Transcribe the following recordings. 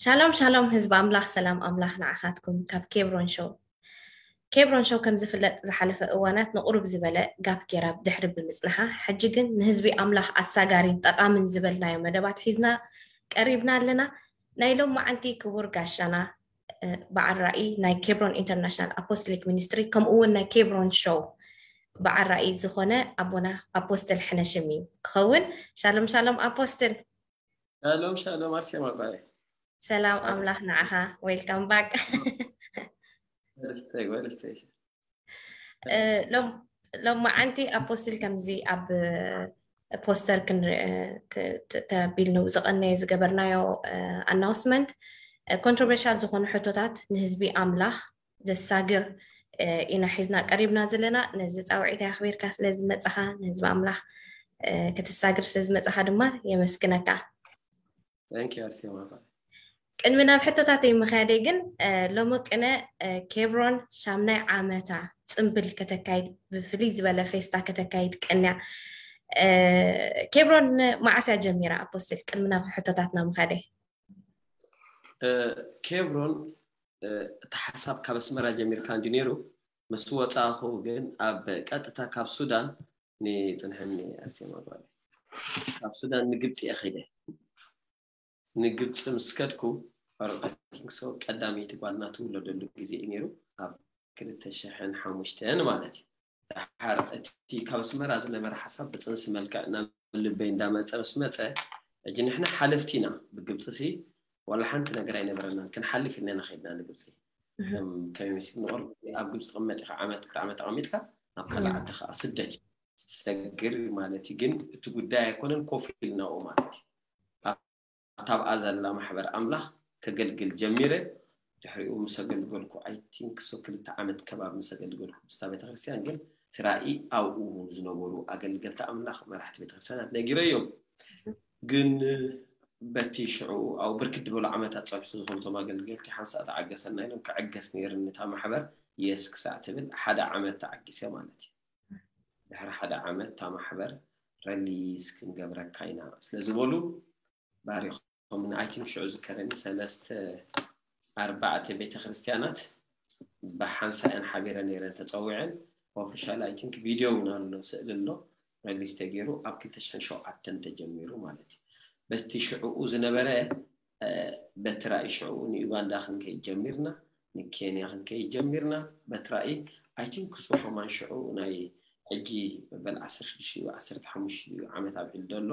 ሻሎም ሻሎም ህዝቢ ኣምላኽ፣ ሰላም ኣምላኽ ንዓኻትኩም። ካብ ኬብሮን ሾው። ኬብሮን ሾው ከም ዝፍለጥ ዝሓለፈ እዋናት ንቑሩብ ዝበለ ጋፕ ጌራ ድሕሪ ብምጽንሓ፣ ሕጂ ግን ንህዝቢ ኣምላኽ ኣሳጋሪን ጠቓምን ዝበልናዮ መደባት ሒዝና ቀሪብና ኣለና። ናይ ሎም መዓንቲ ክቡር ጋሻና፣ እ፣ በዓል ራእይ ናይ ኬብሮን ኢንተርናሽናል ኣፖስቶሊክ ሚኒስትሪ፣ ከምኡ እውን ናይ ኬብሮን ሾው በዓል ራእይ ዝኾነ ኣቦና ኣፖስትል ሕነሽም እዩ ክኸውን። ሻሎም ሻሎም ኣፖስትል። ሻሎም ሻሎም ኣርሴማ ጓይ። ሰላም ኣምላኽ ንዓኻ። ዌልካም ባክ። ወለስተይ ወለስተይ። እ፣ ሎም ሎም መዓንቲ ኣፖስትል ከምዚ ኣብ ፖስተር ክንርኢ፣ እ፣ ክ- ተ- ተቢልኑ ዝቐነየ ዝገበርናዮ ኣናውስመንት፣ ኮንትሮቨርሻል ዝኾኑ ሕቶታት ንህዝቢ ኣምላኽ ዘሳግር፣ እ፣ ኢና ሒዝና ቀሪብና ዘለና። ነዚ ጻውዒት ኣኽቢርካ ስለ ዝመጻኻ፣ ንህዝቢ ኣምላኽ፣ እ፣ ከተሳግር ስለ ዝመጻኻ ድማ የመስግነካ። Thank you ኣርሴማ ጓይ። ቅድሚ ናብ ሕቶታተይ ምኽያደይ ግን፣ እ፣ ሎሚ ቅነ፣ እ፣ ኬብሮን ሻምናይ ዓመታ ጽምብል ከተካይድ፣ ብፍልይ ዝበለ ፌስታ ከተካይድ ቀንያ። እ፣ ኬብሮን መዓስ እያ ጀሚራ ኣፖስትል? ቅድሚ ናብ ሕቶታትና ምኻደይ። እ፣ ኬብሮን፣ እ፣ እቲ ሓሳብ ካብ ኣስመራ ጀሚርካ እንዲ ነይሩ፣ ምስ ወጻእኹ ግን ኣብ ቀጥታ ካብ ሱዳን ንጽንሐኒ ኣርሴማ ጓል። ካብ ሱዳን ንግብፂ እየ ኸይደ። ንግብፂ ምስ ከድኩ፣ ፈርዖን ቲንክሶ ቀዳመይቲ ጓልና ትውለደሉ ግዜ እዩ ነይሩ፣ ኣብ ክልተ ሽሕን ሓሙሽተን ማለት እዩ። ደሓር እቲ ካብ ኣስመራ ዝነበረ ሓሳብ ብፅንሲ መልክዕ ናብ ልበይ እንዳመፀ ምስ መፀ፣ ሕጂ ንሕና ሓለፍቲ ኢና። ብግብፂ ሲ ዋላ ሓንቲ ነገር ኣይነበረናን፣ ክንሓልፍ ኢልና ኢና ኸይድና ንግብፂ። ከም ከመይ መሲሉ ንቕርብ ኣብ ግብፂ ትቕመጥ ኢኻ፣ ዓመት ክልተ ዓመት ተቐሚጥካ ናብ ካልእ ዓዲ ከዓ ስደት እዩ። ሰግር ማለት እዩ። ግን እቲ ጉዳይ ኣይኮነን ኮፍ ኢልናኡ ማለት እዩ። ኣብታ ኣብኣ ዘላ ማሕበር ኣምላኽ ከገልግል ጀሚረ። ድሕሪኡ ምስ ኣገልገልኩ፣ ኣይ ቲንክ ሶ ክልተ ዓመት ከባቢ ምስ ኣገልገልኩ ምስታ ቤተክርስትያን፣ ግን እቲ ራእይ ኣብኡ ዝነበሩ ኣገልገልቲ ኣምላኽ፣ መራሕቲ ቤተክርስትያናት ነጊረዮም። ግን በቲ ሽዑ ኣብኡ ብርክት ዝበሉ ዓመታት ጸብሒ ዝኾኑ እቶም ኣገልገልቲ ሓንሳእ ተዓገሰና ኢሎም፣ ክዕገስ ነይርኒ እታ ማሕበር የስ ክሳዕ ትብል ሓደ ዓመት ተዓጊሰ ማለት እዩ። ድሕሪ ሓደ ዓመት እታ ማሕበር ረሊዝ ክንገብረካ ኢና ስለ ዝበሉ ባሪኾምኒ። ኣይ ቲንክ ሽዑ ዝከረኒ ሰለስተ ኣርባዕተ ቤተክርስትያናት ብሓንሳእ እየን ሓቢረ ነይረን ተጸዊዐን። ኦፊሻል ኣይ ቲንክ ቪድዮ እውን ኣሎ፣ ስእሊ ኣሎ፣ ረሊዝ ተገይሩ ኣብ ክልተ ሽሕን ሸውዓተን ተጀሚሩ ማለት እዩ። በቲ ሽዕኡ ዝነበረ፣ እ፣ በቲ ራእይ ሽዕኡ ንዩጋንዳ ክንከይድ ጀሚርና፣ ንኬንያ ክንከይድ ጀሚርና። በቲ ራእይ ኣይ ቲንክ እሱ ከማን ሽዑ ናይ ሕጂ መበል ዓሰርተ ሽዱሽተ ዓሰርተ ሓሙሽተ ዓመት ኣብዒሉ ዘሎ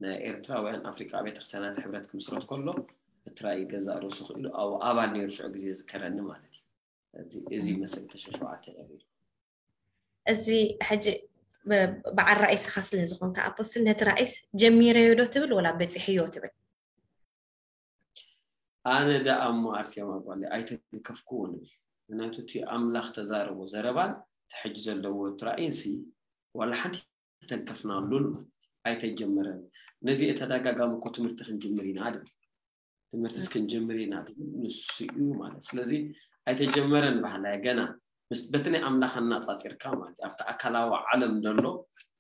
ናይ ኤርትራውያን ኣፍሪቃ ቤተክርስትያናት ሕብረት ክምስረት ከሎ፣ እቲ ራእይ ገዛእ ርእሱ ክኢሉ ኣብኡ ኣባል ነይሩ ሽዑ ግዜ ዝከረኒ ማለት እዩ። እዚ፣ እዚ ይመስል ተሸሸዋዕተ ነቢሉ። እዚ ሕጂ ብ-፣ በዓል ራእይ ስኻ ስለ ዝኾንካ ኣፖስትል፣ ነቲ ራእይስ ጀሚረዮ ዶ ትብል ወላ በጺሕዮ ትብል? ኣነ ደኣ እሞ ኣርሴማ ጓለይ ኣይተንከፍኩዎን እብል። ምክንያቱ እቲ ኣምላኽ ተዛረቦ ዘረባን እቲ ሕጂ ዘለዎ እቲ ራእይን ሲ ዋላ ሓንቲ ተንከፍናሉን ማለት እዩ። ኣይተጀመረን። ነዚ ተደጋጋሚ እኮ ትምህርቲ ክንጅምር ኢና ድብል። ትምህርቲ እስክንጅምር ኢና ድብል ንሱ እዩ ማለት። ስለዚ ኣይተጀመረን ባህላየ ገና ምስ በቲ ናይ ኣምላኽ ኣናጻጺርካ ማለት እዩ። ኣብቲ ኣካላዊ ዓለም ደሎ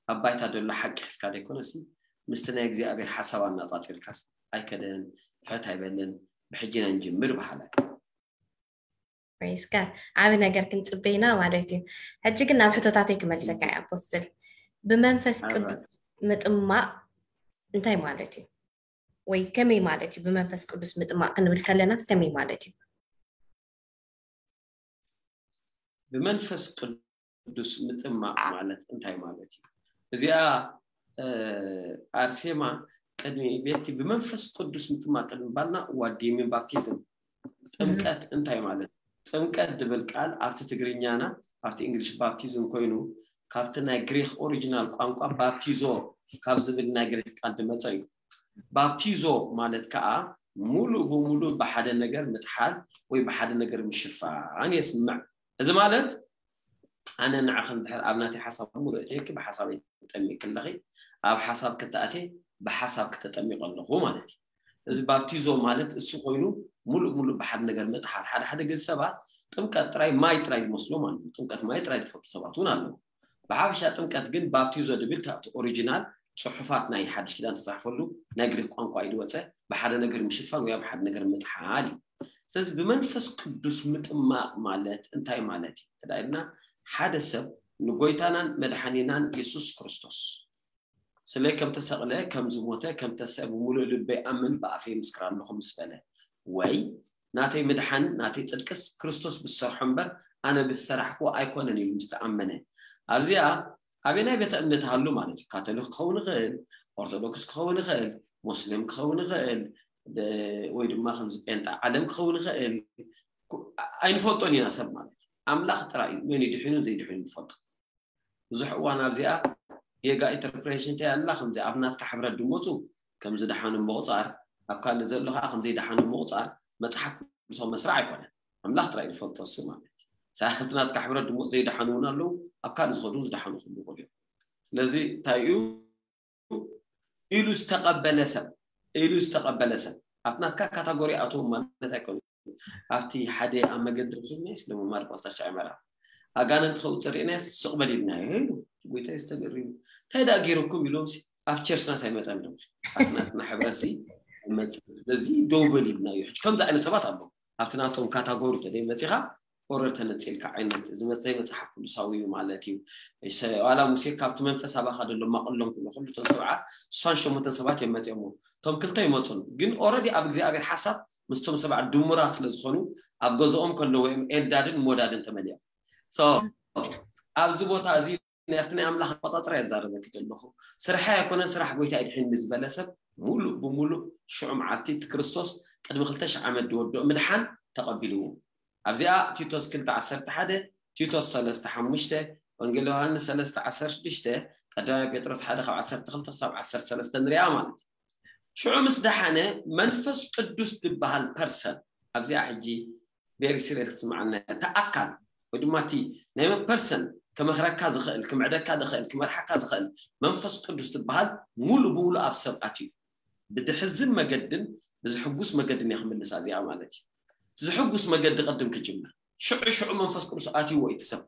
ኣብ ባይታ ደሎ ሓቂ ሒዝካ ደይኮነሲ ምስቲ ናይ እግዚኣብሔር ሓሳብ ኣናጻጺርካስ ኣይከደን፣ ፍሕት ኣይበለን። ብሕጂ ኢና ንጅምር በሃላይ። ፕሬስ ጋድ። ዓቢ ነገር ክንጽበይና ማለት እዩ። ሕጂ ግን ናብ ሕቶታተይ ክመልሰካ እየ ኣፖስትል። ብመንፈስ ቅዱስ ምጥማቕ እንታይ ማለት እዩ? ወይ ከመይ ማለት እዩ? ብመንፈስ ቅዱስ ምጥማቕ ክንብል ከለናስ ከመይ ማለት እዩ? ብመንፈስ ቅዱስ ምጥማቕ ማለት እንታይ ማለት እዩ? እዚኣ፣ እ፣ ኣርሴማ ቅድሚ ቤቲ ብመንፈስ ቅዱስ ምጥማቕ ቅድሚ ባልና ዋዲምን ባፕቲዝም ጥምቀት እንታይ ማለት? ጥምቀት ድብል ቃል ኣብቲ ትግርኛና ኣብቲ እንግሊሽ ባፕቲዝም ኮይኑ ካብቲ ናይ ግሪክ ኦሪጂናል ቋንቋ ባፕቲዞ ካብ ዝብል ናይ ግሪክ ቃል ድመጸ እዩ። ባፕቲዞ ማለት ከዓ ሙሉእ ብሙሉእ ብሓደ ነገር ምጥሓል ወይ ብሓደ ነገር ምሽፋን የስምዕ። እዚ ማለት ኣነ ንዓኺ እንድሕር ኣብ ናተይ ሓሳብ ሙሉእ እትየኪ ብሓሳበይ ትጠሚቂ ኣለኺ፣ ኣብ ሓሳብ ክተኣትየ ብሓሳብ ክተጠሚቂ ኣለኹ ማለት እዩ። እዚ ባፕቲዞ ማለት እሱ ኮይኑ ሙሉእ ሙሉእ ብሓደ ነገር ምጥሓል። ሓደ ሓደ ግዜ ሰባት ጥምቀት ጥራይ ማይ ጥራይ ይመስሎ ማለት እዩ። ጥምቀት ማይ ጥራይ ዝፈቱ ሰባት እውን ኣለዉ። ብሓፈሻ ጥምቀት ግን ባፕቲዞ ድብል ካብቲ ኦሪጂናል ጽሑፋት ናይ ሓድሽ ኪዳን ተጻሕፈሉ ናይ ግሪክ ቋንቋ እዩ ዝወጸ። ብሓደ ነገር ምሽፋን ወይ ኣብ ሓደ ነገር ምጥሓል እዩ። ስለዚ ብመንፈስ ቅዱስ ምጥማቕ ማለት እንታይ ማለት እዩ? ተዳይልና ሓደ ሰብ ንጎይታናን መድሓኒናን የሱስ ክርስቶስ ስለ ከም ተሰቕለ ከም ዝሞተ ከም ተሰ ብምሉእ ልበይ ኣምን ብኣፈይ ምስክር ኣለኹ ምስ በለ ወይ ናተይ ምድሓን ናተይ ጽድቅስ ክርስቶስ ብዝሰርሖ እምበር ኣነ ብዝሰራሕክዎ ኣይኮነን ኢሉ ምስ ተኣመነ ኣብዚኣ ኣበናይ ቤተ እምነት ሃሉ ማለት እዩ። ካቶሊክ ክኸውን ይኽእል፣ ኦርቶዶክስ ክኸውን ይኽእል፣ ሞስሊም ክኸውን ይኽእል፣ ብ- ወይ ድማ ከምዚ ጴንጣ ዓለም ክኸውን ይኽእል። ኩ- ኣይንፈልጦን ኢና ሰብ ማለት እዩ። ኣምላኽ ጥራይ እዩ መን ይድሕኑን ዘይድሕኑን ንፈልጦ። ብዙሕ እዋን ኣብዚኣ ጌጋ ኢንተርፕሬሽን እንታይ ኣላ ከምዚ ኣብ ናትካ ሕብረት ድመፁ ከምዚ ደሓኑ ምቑፃር ኣብ ካልእ ዘሎ ከዓ ከምዘይ ደሓኑ ምቑፃር መፅሓፍ ቅዱሳዊ መስርዕ ኣይኮነን። ኣምላኽ ጥራይ ዝፈልጦ እሱ ማለት እዩ። ሳሕቲ ናትካ ሕብረት ድመፁ ዘይደሓኑ እውን ኣለዉ፣ ኣብ ካልእ ዝኸዱ እውን ዝደሓኑ ክህሉ ይኽእሉ እዮም። ስለዚ እንታይ እዩ ኢሉ ዝተቐበለ ሰብ ኢሉ ዝተቐበለ ሰብ ኣብ ናትካ ካታጎሪ ኣትዎም ማለት ኣይኮነን። ኣብቲ ሓደ ኣብ መገዲ ረኺብናዮስ ለመማር ፓስታ ሻዕመራ ኣጋንንቲ ከውፅእ ርኢናዮስ ስቕ በል ኢልናዮ ኢሉ ጎይታ ዝተገሪሙ እንታይ ደኣ ገይረኩም ኢሎም ኣብ ቸርችናስ ኣይመፀን ዶ ኣብቲ ናትና ሕብረሲ ኣይመፅን ስለዚ ደው በል ኢልናዮ ሕጂ ከምዚ ዓይነት ሰባት ኣለዉ ኣብቲ ናቶም ካታጎሪ ተደይ መፂኻ ኦረር ተነፂልካ ዓይነት እዚ መፀይ መፅሓፍ ቅዱሳዊ እዩ ማለት እዩ ዋላ ሙሴ ካብቲ መንፈስ ኣባኻ ደሎ ማቕሎም ክብሎ ኩሉ እቶም ሰብዓ ስሳን ሸሞንተን ሰባት እዮም መፂኦሞ እቶም ክልተ ይመፁን ግን ኦረዲ ኣብ እግዚኣብሔር ሓሳብ ምስቶም ሰብዓ ድሙራ ስለ ዝኾኑ ኣብ ገዝኦም ከለዉ እዮም ኤልዳድን ሞዳድን ተመሊኦም ኣብዚ ቦታ እዚ ኣብቲ ናይ ኣምላኽ ኣቆፃፅራ የዛረበኪ ዘለኹ ስርሐ ኣይኮነን ስራሕ ጎይታ ይድሕኒ ዝበለ ሰብ ሙሉእ ብሙሉእ ሽዑ መዓልቲ እቲ ክርስቶስ ቅድሚ ክልተ ሽሕ ዓመት ዝወድኦ ምድሓን ተቐቢልዎ ኣብዚኣ ቲቶስ ክልተ ዓሰርተ ሓደ ቲቶስ ሰለስተ ሓሙሽተ ወንጌል ዮሃንስ ሰለስተ ዓሰርተ ሽዱሽተ ቀዳማይ ጴጥሮስ ሓደ ካብ ዓሰርተ ክልተ ክሳብ ዓሰርተ ሰለስተ ንሪኣ ማለት እዩ ሽዑ ምስ ደሓነ መንፈስ ቅዱስ ዝበሃል ፐርሰን ኣብዚኣ ሕጂ ቬሪ ሲሪየስ ክትስምዓና እያ። እቲ ኣካል ወይ ድማ እቲ ናይ መን ፐርሰን ከመኽረካ ዝኽእል፣ ክምዕደካ ዝኽእል፣ ክመርሓካ ዝኽእል መንፈስ ቅዱስ ዝበሃል ሙሉ ብሙሉ ኣብ ሰብ ኣትዩ። ብድሕዝን መገድን ብዝሕጉስ መገድን እየ ክምልሳ እዚኣ ማለት እዩ። እቲ ዝሕጉስ መገዲ ቅድም ክጅምር። ሽዑ ሽዑ መንፈስ ቅዱስ ኣትይዎ እዩ እቲ ሰብ።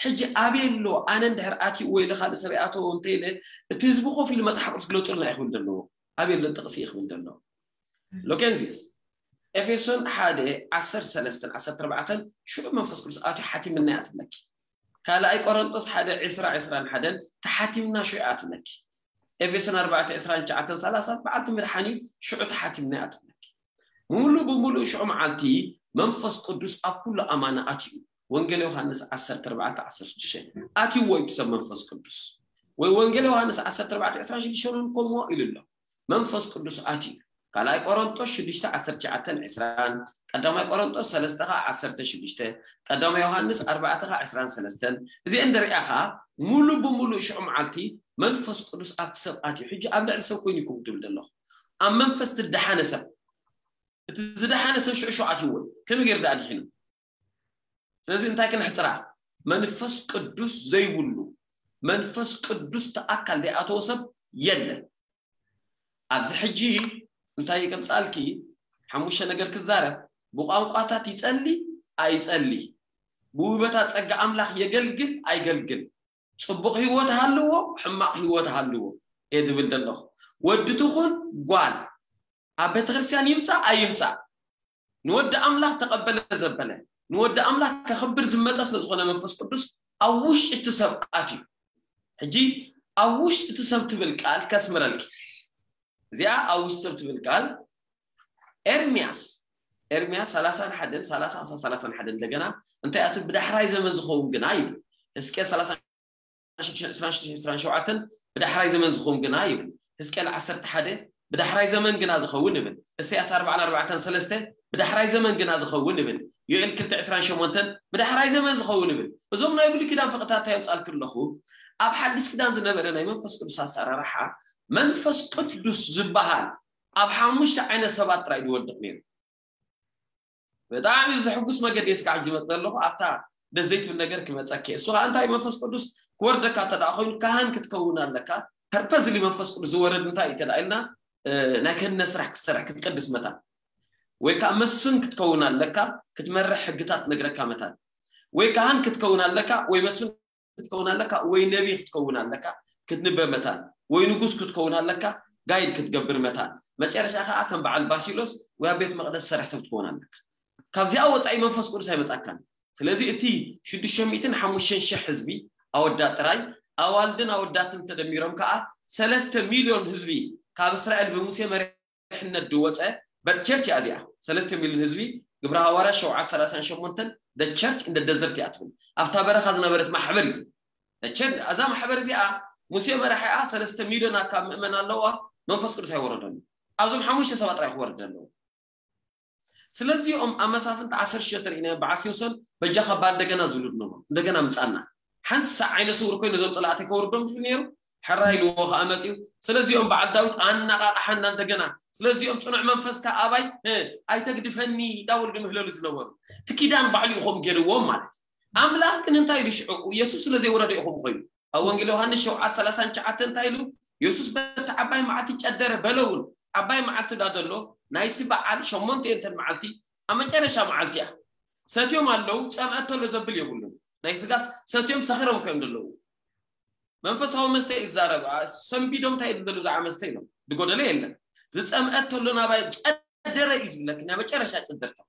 ሕጂ ኣበይ ኣሎ? ኣነ እንድሕር ኣትይዎ ኢለ ካልእ ሰብ ይኣተዎ እንተኢለ እቲ ህዝቢ ኮፍ ኢሉ መፅሓፍ ቅዱስ ግለፁልና እዩ ክብል ዘለዎ። ኣበይ ኣሎ ጥቕሲ እዩ ክብል ዘለዎ። ሎኬንዚስ ኤፌሶን ሓደ ዓሰርተ ሰለስተን ዓሰርተ ኣርባዕተን ሽዑ መንፈስ ቅዱስ ኣትዩ ሓቲምና እያ ትብለኪ። ካልኣይ ቆሮንጦስ ሓደ ዕስራ ዕስራን ሓደን ተሓቲምና ሽዑ እያ ትብለኪ። ኤፌሶን ኣርባዕተ ዕስራን ትሽዓተን ሰላሳን በዓልቲ ምድሓን እዩ ሽዑ ተሓቲምና እያ ትብለኪ። ሙሉእ ብሙሉእ ሽዑ መዓልቲ መንፈስ ቅዱስ ኣብ ኩሉ ኣማና ኣትዩ። ወንጌል ዮሃንስ ዓሰርተ ኣርባዕተ ዓሰርተ ሽዱሽተ ኣትይዎ እዩ ሰብ መንፈስ ቅዱስ ወይ ወንጌል ዮሃንስ ዓሰርተ ኣርባዕተ ዕስራን ሽዱሽተን እውን ከምዎ ኢሉ ኣሎ። መንፈስ ቅዱስ ኣትዩ ካልኣይ ቆሮንጦስ ሽዱሽተ ዓሰርተ ትሽዓተን ዕስራን ቀዳማይ ቆሮንጦስ ሰለስተ ከዓ ዓሰርተ ሽዱሽተ ቀዳማይ ዮሃንስ ኣርባዕተ ከዓ ዕስራን ሰለስተን እዚአን ደሪኣ ከዓ ሙሉ ብሙሉ ሽዑ መዓልቲ መንፈስ ቅዱስ ኣብቲ ሰብ ኣትዩ ሕጂ ኣብ ልዕሊ ሰብ ኮይኑ ይኩም ትብል ዘለኹ ኣብ መንፈስ ትደሓነ ሰብ እቲ ዝደሓነ ሰብ ሽዑ ሽዑ ኣትይዎ ከመይ ገይሩ ደኣ ድሒኑ ስለዚ እንታይ ክነሕፅራ መንፈስ ቅዱስ ዘይብሉ መንፈስ ቅዱስ ተኣካል ዘይኣተወ ሰብ የለን ኣብዚ ሕጂ እንታይ ከምፃልኪ ሓሙሽተ ነገር ክዛረብ ብቋንቋታት ይፀሊ ኣይፀሊ ብውበታት ፀጋ ኣምላኽ የገልግል ኣይገልግል ፅቡቕ ህይወት ሃልዎ ሕማቕ ህይወት ሃልዎ እየ ዝብል ዘለኹ ወዲ ትኹን ጓል ኣብ ቤተክርስትያን ይምፃእ ኣይምፃእ ንወዲ ኣምላኽ ተቐበለ ዘበለ ንወዲ ኣምላኽ ከኽብር ዝመፀ ስለ ዝኾነ መንፈስ ቅዱስ ኣብ ውሽጢ እቲ ሰብ ኣትዩ ሕጂ ኣብ ውሽጢ እቲ ሰብ ትብል ቃል ከስምረልኪ እዚኣ ኣብ ውሽጢ ሰብ ትብል ቃል ኤርሚያስ ኤርሚያስ ሰላሳን ሓደን ሰላሳ ክሳብ ሰላሳን ሓደን እንደገና እንታይ ኣቱ ብዳሕራይ ዘመን ዝኸውን ግና ይብል ሕዝቅኤል ሰላሳ ሽዱሽተ ዕስራን ሽዱሽተ ዕስራን ሸውዓተን ብዳሕራይ ዘመን ዝኸውን ግና ይብል። ሕዝቅኤል ዓሰርተ ሓደ ብዳሕራይ ዘመን ግና ዝኸውን ይብል። እሰያስ ኣርባዓን ኣርባዕተን ሰለስተ ብዳሕራይ ዘመን ግና ዝኸውን ይብል። ዮኤል ክልተ ዕስራን ሸሞንተን ብዳሕራይ ዘመን ዝኸውን ይብል። እዞም ናይ ብሉይ ኪዳን ፍቕታት እንታይ የምጻልክ ኣለኹ? ኣብ ሓድሽ ኪዳን ዝነበረ ናይ መንፈስ ቅዱስ ኣሰራርሓ መንፈስ ቅዱስ ዝበሃል ኣብ ሓሙሽተ ዓይነት ሰባት ጥራይ ዝወድቕ ነይሩ። ብጣዕሚ ብዘሕጉስ መገዲ እየ ስጋዕ ዝመፅ ዘለኹ ኣብታ ደስ ዘይትብል ነገር ክመፀኪ እሱ ከዓ እንታይ መንፈስ ቅዱስ ክወርደካ እንተ ደኣ ኮይኑ ካህን ክትከውን ኣለካ ፐርፐዝሊ መንፈስ ቅዱስ ዝወረድ እንታይ እዩ ተደኣ ኢልና ናይ ክህነ ስራሕ ክትሰርሕ ክትቀድስ መታን ወይ ከዓ መስፍን ክትከውን ኣለካ ክትመርሕ ሕግታት ነግረካ መታን ወይ ካህን ክትከውን ኣለካ ወይ መስፍን ክትከውን ኣለካ ወይ ነቢ ክትከውን ኣለካ ክትንበ መታን ወይ ንጉስ ክትከውን ኣለካ ጋይድ ክትገብር መታን፣ መጨረሻ ከዓ ከም በዓል ባሲሎስ ወይ ኣብ ቤት መቕደስ ዝሰርሕ ሰብ ትኸውን ኣለካ። ካብዚኣ ወፃኢ መንፈስ ቅዱስ ኣይመፃካን። ስለዚ እቲ ሽዱሽተ ሚእትን ሓሙሽተን ሺሕ ህዝቢ፣ ኣወዳት ጥራይ፣ ኣዋልድን ኣወዳትን ተደሚሮም ከዓ ሰለስተ ሚልዮን ህዝቢ ካብ እስራኤል ብሙሴ መሪሕነት ዝወፀ ቸርች እያ እዚኣ። ሰለስተ ሚልዮን ህዝቢ፣ ግብረ ሃዋርያ ሸውዓተ ሰላሳን ሸሞንተን ቸርች እንደ ደዘርት እያ ትብል። ኣብታ በረኻ ዝነበረት ማሕበር እዩ። ቸርች፣ እዛ ማሕበር እዚኣ ሙሴ መራሒኣ፣ ሰለስተ ሚልዮን ኣካብ ምእመን ኣለዋ። መንፈስ ቅዱስ ኣይወረደሉ። ኣብዞም ሓሙሽተ ሰባት ጥራይ ክወርድ ኣለዎ። ስለዚኦም ኣብ መሳፍንቲ ዓሰርተ ሽዱሽተ ርኢና በዓል ሲምሶን በጃኻ ባል እንደገና ዝብሉ ዝነበሩ፣ እንደገና ምጻና። ሓንሳ ዓይነ ስውር ኮይኑ ነዞም ጸላእተይ ከውርዶም ዝብል ነይሩ። ሕራይ ኢልዎ ከኣ መጺኡ። ስለዚኦም በዓል ዳዊት ኣነቓቕሓና እንደገና። ስለዚኦም ጽኑዕ መንፈስካ ኣባይ፣ እ፣ ኣይተግድፈኒ እንዳበሉ ድምህለሉ ዝነበሩ። እቲ ኪዳን ባዕሉ ኢኹም ገይርዎም ማለት እዩ። ኣምላኽ ግን እንታይ ኢሉ ሽዑ? ኢየሱስ ስለ ዘይወረደ ኢኹም ኮይኑ። ኣብ ወንጌል ዮሃንስ ሸውዓተ ሰላሳን ትሽዓተን እንታይ ኢሉ? ኢየሱስ በቲ ዓባይ መዓልቲ ጨደረ በለ እውን። ዓባይ መዓልቲ ዳ ዘሎ ናይቲ በዓል ሸሞንተ እየንተን መዓልቲ፣ ኣብ መጨረሻ መዓልቲ እያ። ሰትዮም ኣለዉ፣ ጸምአ ተሎ ዘብል የብሉን። ናይ ስጋስ ሰትዮም ሰኺሮም እዮም ዘለዉ። መንፈሳዊ መስተ ይዛረብ። አ፣ ሰንቢዶም እንታይ ይብሉ ዘለዉ? ብዛዕባ መስተ ኢሎም። ዝጎደለ የለን። ዝጸምአ ተሎ ናባይ ጨደረ እዩ ዝብለክ፣ ናይ መጨረሻ ጭድርታ።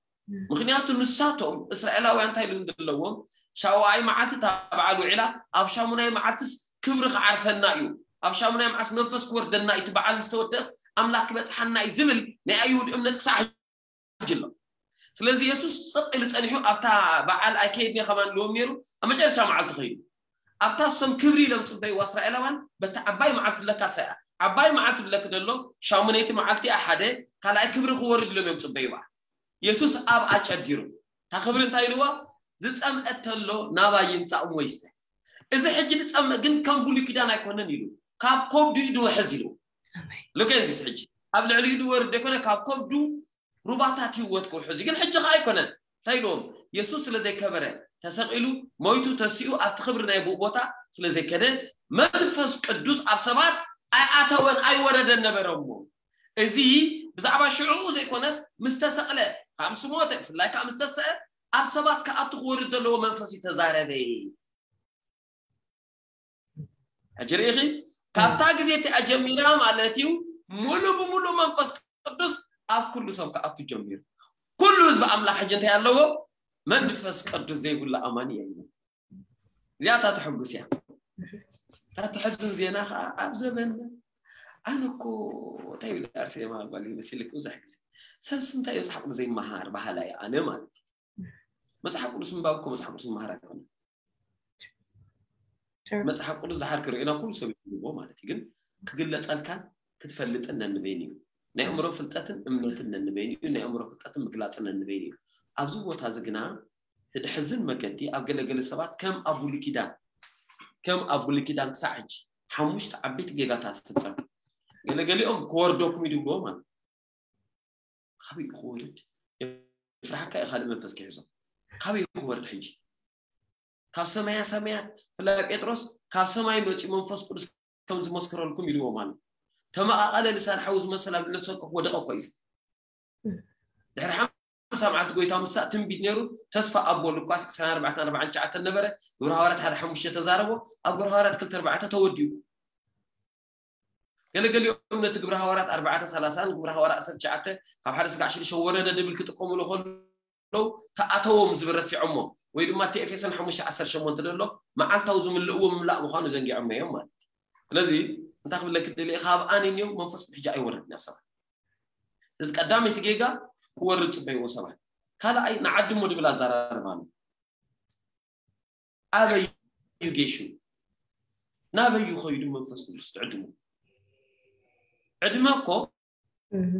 ምኽንያቱ ንሳቶም እስራኤላውያን እንታይ ኢሉ ዘለዎም? ሻውዓይ መዓልቲ እታ በዓል ውዒላ፣ ኣብ ሻሙናይ መዓልትስ ክብሪ ክዓርፈና እዩ፣ ኣብ ሻሙናይ መዓልቲ መንፈስ ክወርደና እዩ፣ እቲ በዓል ምስ ተወደእስ ኣምላኽ ክበጽሓና እዩ ዝብል ናይ ኣይሁድ እምነት ክሳዕ ሕጂ ኣሎ። ስለዚ የሱስ ጽቕ ኢሉ ጸኒሑ ኣብታ በዓል ኣይከይድን እየ ከማን ኢልዎም ነይሩ። ኣብ መጨረሻ መዓልቲ ከይዱ። ኣብታ እሶም ክብሪ ኢሎም ጽበይዋ እስራኤላውያን፣ በቲ ዓባይ መዓልቲ ብለካ ሳያ፣ ዓባይ መዓልቲ ብለክ ደሎ፣ ሻሙነይቲ መዓልቲ እያ ሓደ፣ ካልኣይ ክብሪ ክወርድ ኢሎም እዮም ጽበይዋ። የሱስ ኣብ ኣጨዲሩ። እታ ክብሪ እንታይ ኢልዋ? ዝጸምአ ተሎ ናባይ ይምጻእ እሞ ይስተ። እዚ ሕጂ ዝጸምእ ግን ከም ብሉይ ኪዳን ኣይኮነን ኢሉ። ካብ ከብዱ እዩ ድውሕዝ ኢሉ። ኣሜን። ሉኬንሲስ ሕጂ ኣብ ልዕሊኡ ድወርድ ዘይኮነ፣ ካብ ከብዱ ሩባታት ህይወት ክውሕዝ እዩ። ግን ሕጂ ከኣ ኣይኮነን። እንታይ ኢልዎም? የሱስ ስለ ዘይከበረ፣ ተሰቒሉ፣ ሞይቱ፣ ተሲኡ፣ ኣብቲ ክብሪ ናይ ብኡ ቦታ ስለ ዘይከደ፣ መንፈስ ቅዱስ ኣብ ሰባት ኣይኣተወን፣ ኣይወረደን ነበረ እሞ። እዚ ብዛዕባ ሽዑ ዘይኮነስ፣ ምስ ተሰቕለ፣ ካብ ምስ ሞተ፣ ብፍላይ ከኣ ምስ ተሰአ፣ ኣብ ሰባት ክኣቱ ክወርድ ዘለዎ መንፈስ እዩ ተዛረበ። ሕጂ ርኢኺ፣ ካብታ ግዜ እቲኣ ጀሚራ ማለት እዩ፣ ሙሉ ብሙሉ መንፈስ ቅዱስ ኣብ ኩሉ ሰብ ክኣቱ ጀሚሩ። ኩሉ ህዝቢ ኣምላኽ ሕጂ እንታይ ኣለዎ? መንፈስ ቅዱስ ዘይብሉ ኣማኒ የለን። እዚኣ እታ ተሐጉስ እያ። እታ ተሐዝን ዜና ከዓ ኣብ ዘበንና፣ ኣነ እኮ እንታይ ይብል ኣርሴማ ጓል መሲልክ ብዙሕ ግዜ፣ ሰብስ እንታይ እዩ መጽሓፍ ቅዱስ ዘይመሃር በሃላይ ኣነ ማለት እዩ። መጽሓፍ ቅዱስ ምንባብ እኮ መጽሓፍ ቅዱስ ምምሃር ኣይኮነን። Sure። መጽሓፍ ቅዱስ ዝሓር ክርእዩና ኩሉ ሰብ ይብልዎ ማለት እዩ። ግን ክግለጸልካን ክትፈልጥን ነንበይን እዩ። ናይ ኣእምሮ ፍልጠትን እምነትን ነንበይን እዩ። ናይ ኣእምሮ ፍልጠትን ምግላጽን ነንበይን እዩ። ኣብዚ ቦታ እዚ ግና እቲ ድሕዝን መገዲ ኣብ ገለገለ ሰባት ከም ኣብ ብሉይ ኪዳን፣ ከም ኣብ ብሉይ ኪዳን ክሳዕ ሕጂ ሓሙሽተ ዓበይቲ ጌጋታት ይፍጸም። ገለገሊኦም ክወርደኩም እዩ ድብልዎ ማለት እዩ። ካበይ እዩ ክወርድ? የፍርሓካ እዩ ካልእ መንፈስ ክሕዞ። ካበይ እዩ ክወርድ ሕጂ? ካብ ሰማያ ሰማያት፣ ብፍላይ ጴጥሮስ፣ ካብ ሰማይ መጺኡ መንፈስ ቅዱስ ከም ዝመስከረልኩም ኢልዎም ኣሎ። ተመቓቐለ፣ ልሳን ሓዊ ዝመሰል ኣብ ልዕሊ ሰው ኮፍ ወደቐ እኮ እዩ። ድሕሪ ሓምሳ መዓልቲ ጎይታ ምሳእ ትንቢት ነይሩ፣ ተስፋ ኣብ በሉ እኳ ዕስራን ኣርባዕተን ኣርባዓን ትሽዓተን ነበረ፣ ግብረ ሃዋርያት ሓደ ሓሙሽተ ተዛረቦ፣ ኣብ ግብረ ሃዋርያት ክልተ ኣርባዕተ ተወዲኡ። ገለገሊኦም ነቲ ግብረ ሃዋርያት ኣርባዕተ ሰላሳን ግብረ ሃዋርያት ዓሰርተ ትሽዓተ ካብ ሓደ ስጋዕ ሽዱሽተ ወረደ ድብል ክጥቀሙሉ ከለዉ ተኣተዎም ዝብል ረሲዖሞ፣ ወይ ድማ እቲ ኤፌሶን ሓሙሽተ ዓሰርተ ሸሞንተ ዘሎ መዓልታዊ ዝምልእዎ ምምላእ ምዃኑ ዘንጊዖሞ እዮም ማለት እዩ። ስለዚ እንታይ ክብለኪ ደልየ፣ ካብ ኣነ እኒኦ መንፈስ ቅዱስ ሕጂ ኣይወርድን ኣብ ሰባት። እዚ ቀዳመይቲ ጌጋ ክወርድ ጽበይዎ ሰባት። ካልኣይ ንዓድሞ ድብል ኣዘራርባ ኣሎ። ኣበይ እዩ ጌሹ? ናበይ እዩ ኸይዱ መንፈስ ቅዱስ ትዕድሞ? ዕድመ እኮ፣ እህ።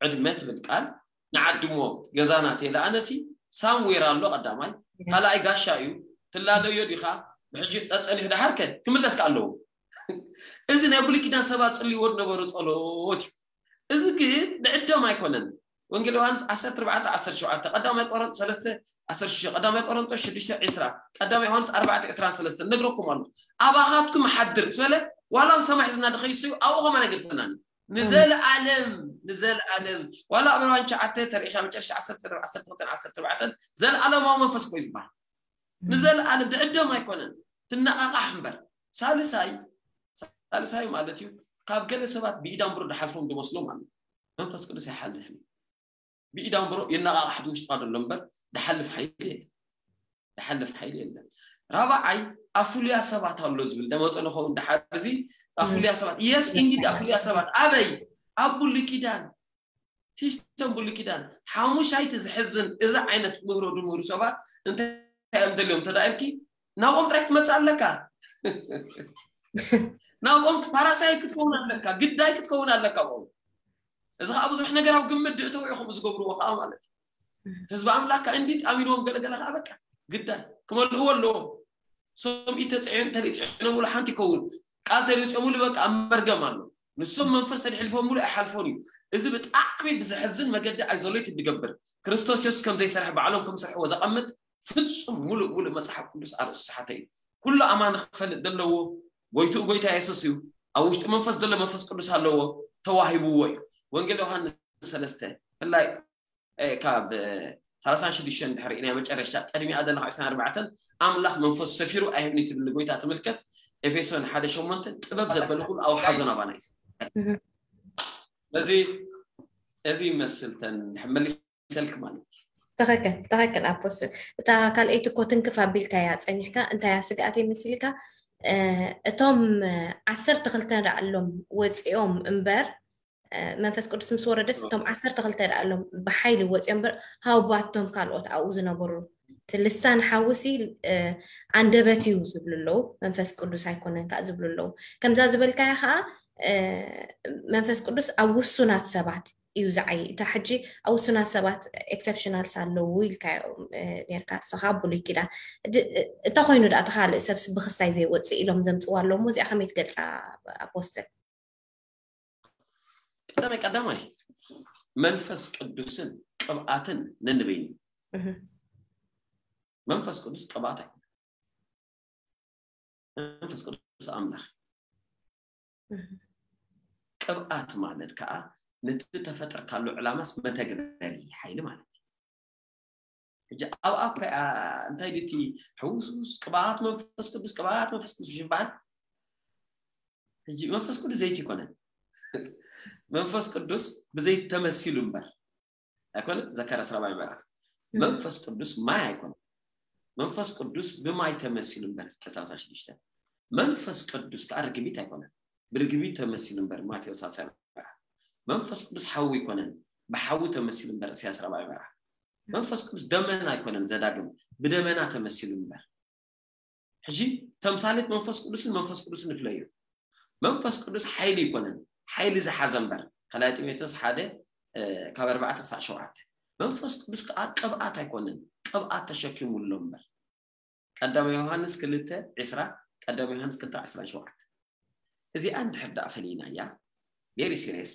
ዕድመ ትብል ቃል ንዓድሞ ገዛና ተይለ ኣነሲ ሳምዌር ኣሎ ቀዳማይ፣ ካልኣይ ጋሻ እዩ። ትላለዮ ዲኻ? ብሕጂ ጸጸኒሑ ደሓርከ ክምለስ ከኣ ኣለዎ። እዚ ናይ ብሉይ ኪዳን ሰባት ጽልይዎ ዝነበሩ ጸሎት እዩ። እዚ ግን ንዕድም ኣይኮነን። ወንጌል ዮሃንስ ዓሰርተ ኣርባዕተ ዓሰርተ ሸውዓተ፣ ቀዳማይ ቆሮንቶስ ሰለስተ ዓሰርተ ሽዱሽተ፣ ቀዳማይ ቆሮንቶስ ሽዱሽተ ዕስራ፣ ቀዳማይ ዮሃንስ ኣርባዕተ ዕስራን ሰለስተን ነግረኩም ኣሎ። ኣባኻትኩም ሓድር ምስ በለ፣ ዋላ ኣብ ሰማይ ሒዝና ድኸይሰዩ ኣብኡ ኸማን ኣይገድፈናን እዩ። ንዘለኣለም፣ ንዘለኣለም። ዋላ ዕብራውያን ትሽዓተ ተሪኢኻ መጨረሻ ዓሰርተ፣ ዓሰርተ ክልተን ዓሰርተ ኣርባዕተን ዘለኣለማዊ መንፈስ እኮ እዩ ዝበሃል። ንዘለኣለም ድዕደም ኣይኮነን፣ ትነቓቓሕ እምበር። ሳልሳይ፣ ሳልሳይ ማለት እዩ፣ ካብ ገለ ሰባት ብኢዳንብሮ ድሓልፎም ድመስሎም ኣሎ። መንፈስ ቅዱስ ኣይሓልፍን እዩ። ብኢዳንብሮ የነቓቕሓት ውሽጥኻ ዘሎ እምበር ድሓልፍ ሓይሊ የለን። ድሓልፍ ሓይሊ የለን። ራብዓይ ኣፉልያ ሰባት ኣሎ ዝብል ደመፀ ንኸውን ድሓር እዚ ኣፉልያ ሰባት የስ ኢንዲድ ኣፉልያ ሰባት ኣበይ ኣብ ብሉይ ኪዳን ሲስተም ብሉይ ኪዳን ሓሙሻይቲ ዝሕዝን እዚ ዓይነት ምህሮ ድምህሩ ሰባት እንታይ እዮም ደልዮም ተዳኢልኪ ናብኦም ጥራይ ክትመፅእ ኣለካ። ናብኦም ፓራሳይት ክትከውን ኣለካ፣ ግዳይ ክትከውን ኣለካ ኣብኦም። እዚ ከዓ ብዙሕ ነገር ኣብ ግምት ድእተው ኢኹም ዝገብርዎ ከዓ ማለት እዩ። ህዝቢ ኣምላክ ከዓ እንዲድ ኣሚንዎም ገለገለ ከዓ በቃ ግዳይ ክመልእዎ ኣለዎም። ሰምኢ ተፅዕዮ እንተለይፅዕኖምሉ ሓንቲ ይከውን ቃል ተለይፅኦምሉ በቃ ኣብ መርገም ኣሎ። ንሶም መንፈስ ተድሕልፎምሉ ኣይሓልፎን እዩ። እዚ ብጣዕሚ ብዘሕዝን መገዲ ኣይዞሌት ድገብር ክርስቶስ የሱስ ከም ዘይሰርሐ ባዕሎም ከም ዝሰርሕዎ ዘቐምጥ ፍጹም ሙሉእ ሙሉእ መጽሓፍ ቅዱስ ኣርእሱ ሰሓተ እዩ። ኩሉ ኣማኒ ክፈልጥ ዘለዎ ጎይትኡ ጎይታ የሱስ እዩ። ኣብ ውሽጢ መንፈስ ዘሎ መንፈስ ቅዱስ ኣለዎ ተዋሂብዎ እዩ። ወንጌል ዮሃንስ ሰለስተ ብፍላይ ካብ ሰላሳን ሽዱሽተን ድሕሪ ናይ መጨረሻ ቅድሚኣ ዘለካ ዕስራን ኣርባዕተን ኣምላኽ መንፈስ ሰፊሩ ኣይህብኒ ትብል ንጎይታ ትምልከት። ኤፌሶን ሓደ ሸሞንተ ጥበብ ዘበለ ኩሉ ኣውሓዞ ናባና እዩ። እዚ እዚ ይመስል ተን መሊሰልክ ማለት እዩ። ትኽክል ትኽክል ኣፖስትል። እታ ካልኣይቲ እኮ ትንክፍ ኣቢልካያ ፀኒሕካ እንታያ ስግኣት ይመስልካ? እቶም ዓሰርተ ክልተ ደኣ ኣሎም ወፂኦም እምበር መንፈስ ቅዱስ ምስ ወረደስ እቶም ዓሰርተ ክልተ ደኣ ኣሎም ብሓይሊ ወፂኦም እምበር ሃውባቶም ካልኦት ኣብኡ ዝነበሩ እቲ ልሳን ሓውሲ ኣንደበት እዩ ዝብሉ ኣለዉ። መንፈስ ቅዱስ ኣይኮነን ከዓ ዝብሉ ኣለዉ። ከምዛ ዝበልካያ ከዓ መንፈስ ቅዱስ ኣብ ውሱናት ሰባት እዩ ዝዓይ። እታ ሕጂ ኣብ ውሱናት ሰባት ኤክሰፕሽናልስ ኣለዉ ኢልካዮ ነርካ ንስኻ ብሉይ ኪዳን። እተ ኮይኑ ደኣ ተካልእ ሰብስ ብክስታይ ዘይወፅእ ኢሎም ዘምፅዋ ኣለዉ። እዚኣ ከመይ ትገልፃ ኣፖስትል? ቀዳማይ ቀዳማይ መንፈስ ቅዱስን ቅብኣትን ነንበይኑ መንፈስ ቅዱስ ቅብኣት ኣይኮነ። መንፈስ ቅዱስ ኣምላኽ ቅብኣት ማለት ከዓ ነቲ ተፈጠርካሉ ዕላማስ መተግበሪ ሓይሊ ማለት እዩ። ሕጂ ኣብ ኣኳ እንታይ ድቲ ሕውስውስ ቅብኣት መንፈስ ቅዱስ ቅብኣት መንፈስ ቅዱስ ይበሃል። ሕጂ መንፈስ ቅዱስ ዘይቲ ይኮነን። መንፈስ ቅዱስ ብዘይቲ ተመሲሉ እምበር ኣይኮነ። ዘካርያስ ራብዓይ ምዕራፍ መንፈስ ቅዱስ ማይ ኣይኮነ። መንፈስ ቅዱስ ብማይ ተመሲሉ እምበር እስከ ሰላሳ ሽዱሽተ መንፈስ ቅዱስ ከዓ ርግቢት ኣይኮነን። ብርግቢት ተመሲሉ እምበር ማቴዎስ ሳልሳይ ምዕራፍ መንፈስ ቅዱስ ሓዊ ኣይኮነን። ብሓዊ ተመሲሉ እምበር እስያስ ራብዓይ ምዕራፍ መንፈስ ቅዱስ ደመና ኣይኮነን። ዘዳግም ብደመና ተመሲሉ እምበር ሕጂ ተምሳሌት መንፈስ ቅዱስን መንፈስ ቅዱስን ንፍለዩ። መንፈስ ቅዱስ ሓይሊ ይኮነን። ሓይሊ ዝሓዘ እምበር ካልኣይ ጢሞቴዎስ ሓደ ካብ ኣርባዕተ ክሳዕ ሸውዓተ መንፈስ ቅዱስ ከዓ ቅብኣት ኣይኮነን። ቅብኣት ተሸኪሙ ኣሎ እምበር ቀዳማይ ዮሃንስ ክልተ ዕስራ ቀዳማይ ዮሃንስ ክልተ ዕስራ ሸውዓተ እዚኣ እንድሕር ደኣ ፈሊናያ very serious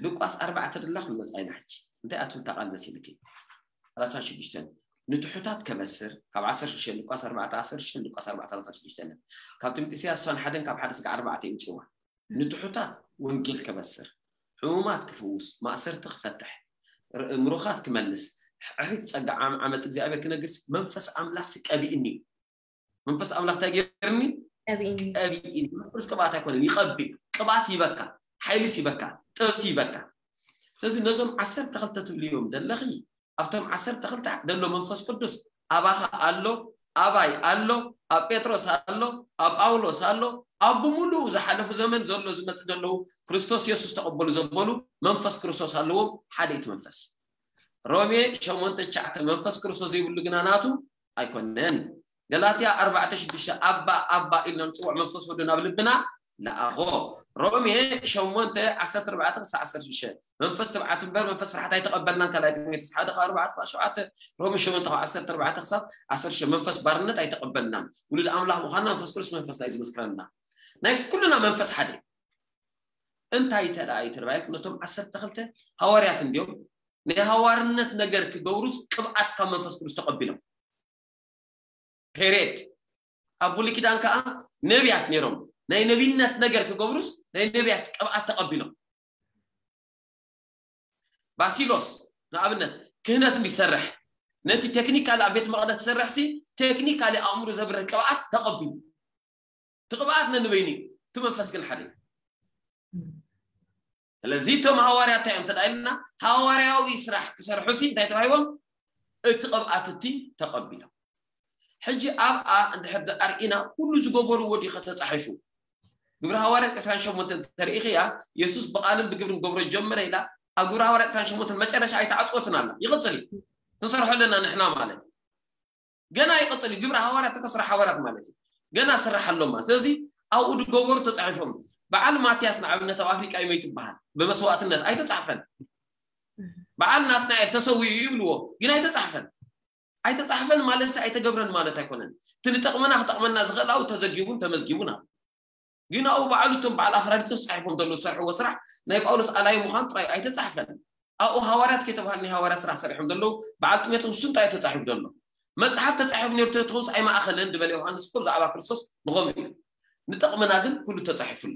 ሉቃስ ኣርባዕተ ድላ ክንመፃ ኢና ሕጂ እንታይ ኣትምታ ቃል መሲልኪ ሰላሳ ሽዱሽተ ንትሑታት ከበስር ካብ ዓሰርተ ሽዱሽተ ሉቃስ ኣርባዕተ ዓሰርተ ሽዱሽተ ሉቃስ ኣርባዕተ ሰላሳ ሽዱሽተ ካብ ትምህርቲ ኢሳያስ ሓደን ካብ ሓደ ስጋ ኣርባዕተ ይምፅዋ ንትሑታት ወንጌል ከበስር ሕሙማት ክፍውስ ማእሰርቲ ክፈትሕ ምሩኻት ክመልስ ሕሪት ፀጋ ዓመፅ እግዚኣብሔር ክነግርስ መንፈስ ኣምላኽ ቀቢእኒ መንፈስ ኣምላኽ እንታይ ገይርኒ ቀቢእኒ መንፈስ ቅዱስ ቅብኣት ኣይኮነን ይቐቢ ቅብኣት ይበካ ሓይልስ ይበካ ጥበብሲ ይበካ ስለዚ ነዞም ዓሰርተ ክልተ ትብልዮም ዘለኺ ኣብቶም ዓሰርተ ክልተ ዘሎ መንፈስ ቅዱስ ኣባኻ ኣሎ ኣባይ ኣሎ ኣብ ጴጥሮስ ኣሎ ኣብ ጳውሎስ ኣሎ ኣብ ብምሉኡ ዝሓለፉ ዘመን ዘሎ ዝመፅእ ዘለዉ ክርስቶስ የሱስ ተቐበሉ ዘበሉ መንፈስ ክርስቶስ ኣለዎም ሓደ እቲ መንፈስ ሮሜ ሸሞንተ ትሽዓተ መንፈስ ክርስቶስ ዘይብሉ ግና ናቱ ኣይኮነን። ገላትያ ኣርባዕተ ሽዱሽተ ኣባ ኣባ ኢልና ንፅውዕ መንፈስ ወዱ ናብ ልብና ለኣኾ። ሮሜ ሸሞንተ ዓሰርተ ኣርባዕተ ክሳዕ ዓሰርተ ሽዱሽተ መንፈስ ትብዓት እምበር መንፈስ ፍርሓት ኣይተቐበልናን ካልኣይ ጢሞቴዎስ ሓደ ካብ ኣርባዕተ ክሳብ ሸውዓተ ሮሜ ሸሞንተ ካብ ዓሰርተ ኣርባዕተ ክሳብ ዓሰርተ ሽዱሽተ መንፈስ ባርነት ኣይተቐበልናን ውሉድ ኣምላኽ ምዃንና መንፈስ ቅዱስ መንፈስና እዩ ዝምስክረልና ናይ ኩልና መንፈስ ሓደ እንታይ ተደኣ እዩ ተባሂልክ ነቶም ዓሰርተ ክልተ ሃዋርያት እንዲዮም ናይ ሃዋርነት ነገር ክገብሩስ ቅብኣት ካብ መንፈስ ቅዱስ ተቐቢሎም ፔሬድ ኣብ ብሉይ ኪዳን ከዓ ነቢያት ነይሮም ናይ ነቢነት ነገር ክገብሩስ ናይ ነቢያት ቅብኣት ተቐቢሎም ባሲሎስ ንኣብነት ክህነት እንዲሰርሕ ነቲ ቴክኒካሊ ኣብ ቤት መቅደስ ትሰርሕ ሲ ቴክኒካሊ ኣእምሮ ዘብርህ ቅብኣት ተቐቢሉ ትቕብኣት ነንበይኑ እዩ እቲ መንፈስ ግን ሓደ እዩ ስለዚ እቶም ሃዋርያት እንታይ እዮም ተዳኢልና? ሃዋርያዊ ስራሕ ክሰርሑ ሲ እንታይ ተባሂቦም? እቲ ቅብኣት እቲ ተቐቢሎም። ሕጂ ኣብኣ እንድሕር ኣርኢና ኩሉ ዝገበርዎ ድዩ ከተፃሒፉ? ግብሪ ሃዋርያት ዕስራን ሸሞንተን ተርኢ ኢኽያ፣ የሱስ ብቓልን ብግብርን ገብሮ ጀመረ ኢላ ኣብ ግብሪ ሃዋርያት ዕስራን ሸሞንተን መጨረሻ ኣይተዓፅወትን ኣላ። ይቕፅል እዩ። ክንሰርሖ ኣለና ንሕና ማለት እዩ። ገና ይቕፅል እዩ። ግብሪ ሃዋርያት እኮ ስራሕ ሃዋርያት ማለት እዩ። ገና ስራሕ ኣሎማ። ስለዚ ኣብኡ ዝገበሩ ተፃሒፎም። በዓል ማትያስ ንኣብነት ኣብ ኣፍሪቃ እዩ ትበሃል። ብመስዋእትነት ኣይተፃሕፈን። በዓል ናትናኤል ተሰዊኡ ይብልዎ፣ ግን ኣይተፃሕፈን። ኣይተፃሕፈን ማለት ሲ ኣይተገብረን ማለት ኣይኮነን። እቲ ንጠቕመና ክጠቕመና ዝኽእል ኣብኡ ተዘጊቡን ተመዝጊቡን ኣሎ። ግን ኣብኡ ባዕሉ እቶም በዓል ኣፍራዲቶስ ፃሒፎም ዘለዉ ዝሰርሕዎ ስራሕ ናይ ጳውሎስ ኣላይ ምዃን ጥራይ ኣይተፃሕፈን። ኣብኡ ሃዋርያት ከይተባህሉ ናይ ሃዋርያ ስራሕ ሰሪሖም ዘለዉ በዓል ጢሞቴዎስ እሱን ጥራይ ተፃሒፉ ዘሎ። መፅሓፍ ተፃሒፉ ነይሩ ተትኾንስ ኣይማእኸለን ዝበለ ዮሃንስ እኮ ብዛዕባ ክርስቶስ ንኸምኡ እዩ። ንጠቕመና ግን ኩሉ ተፃሒፉሉ።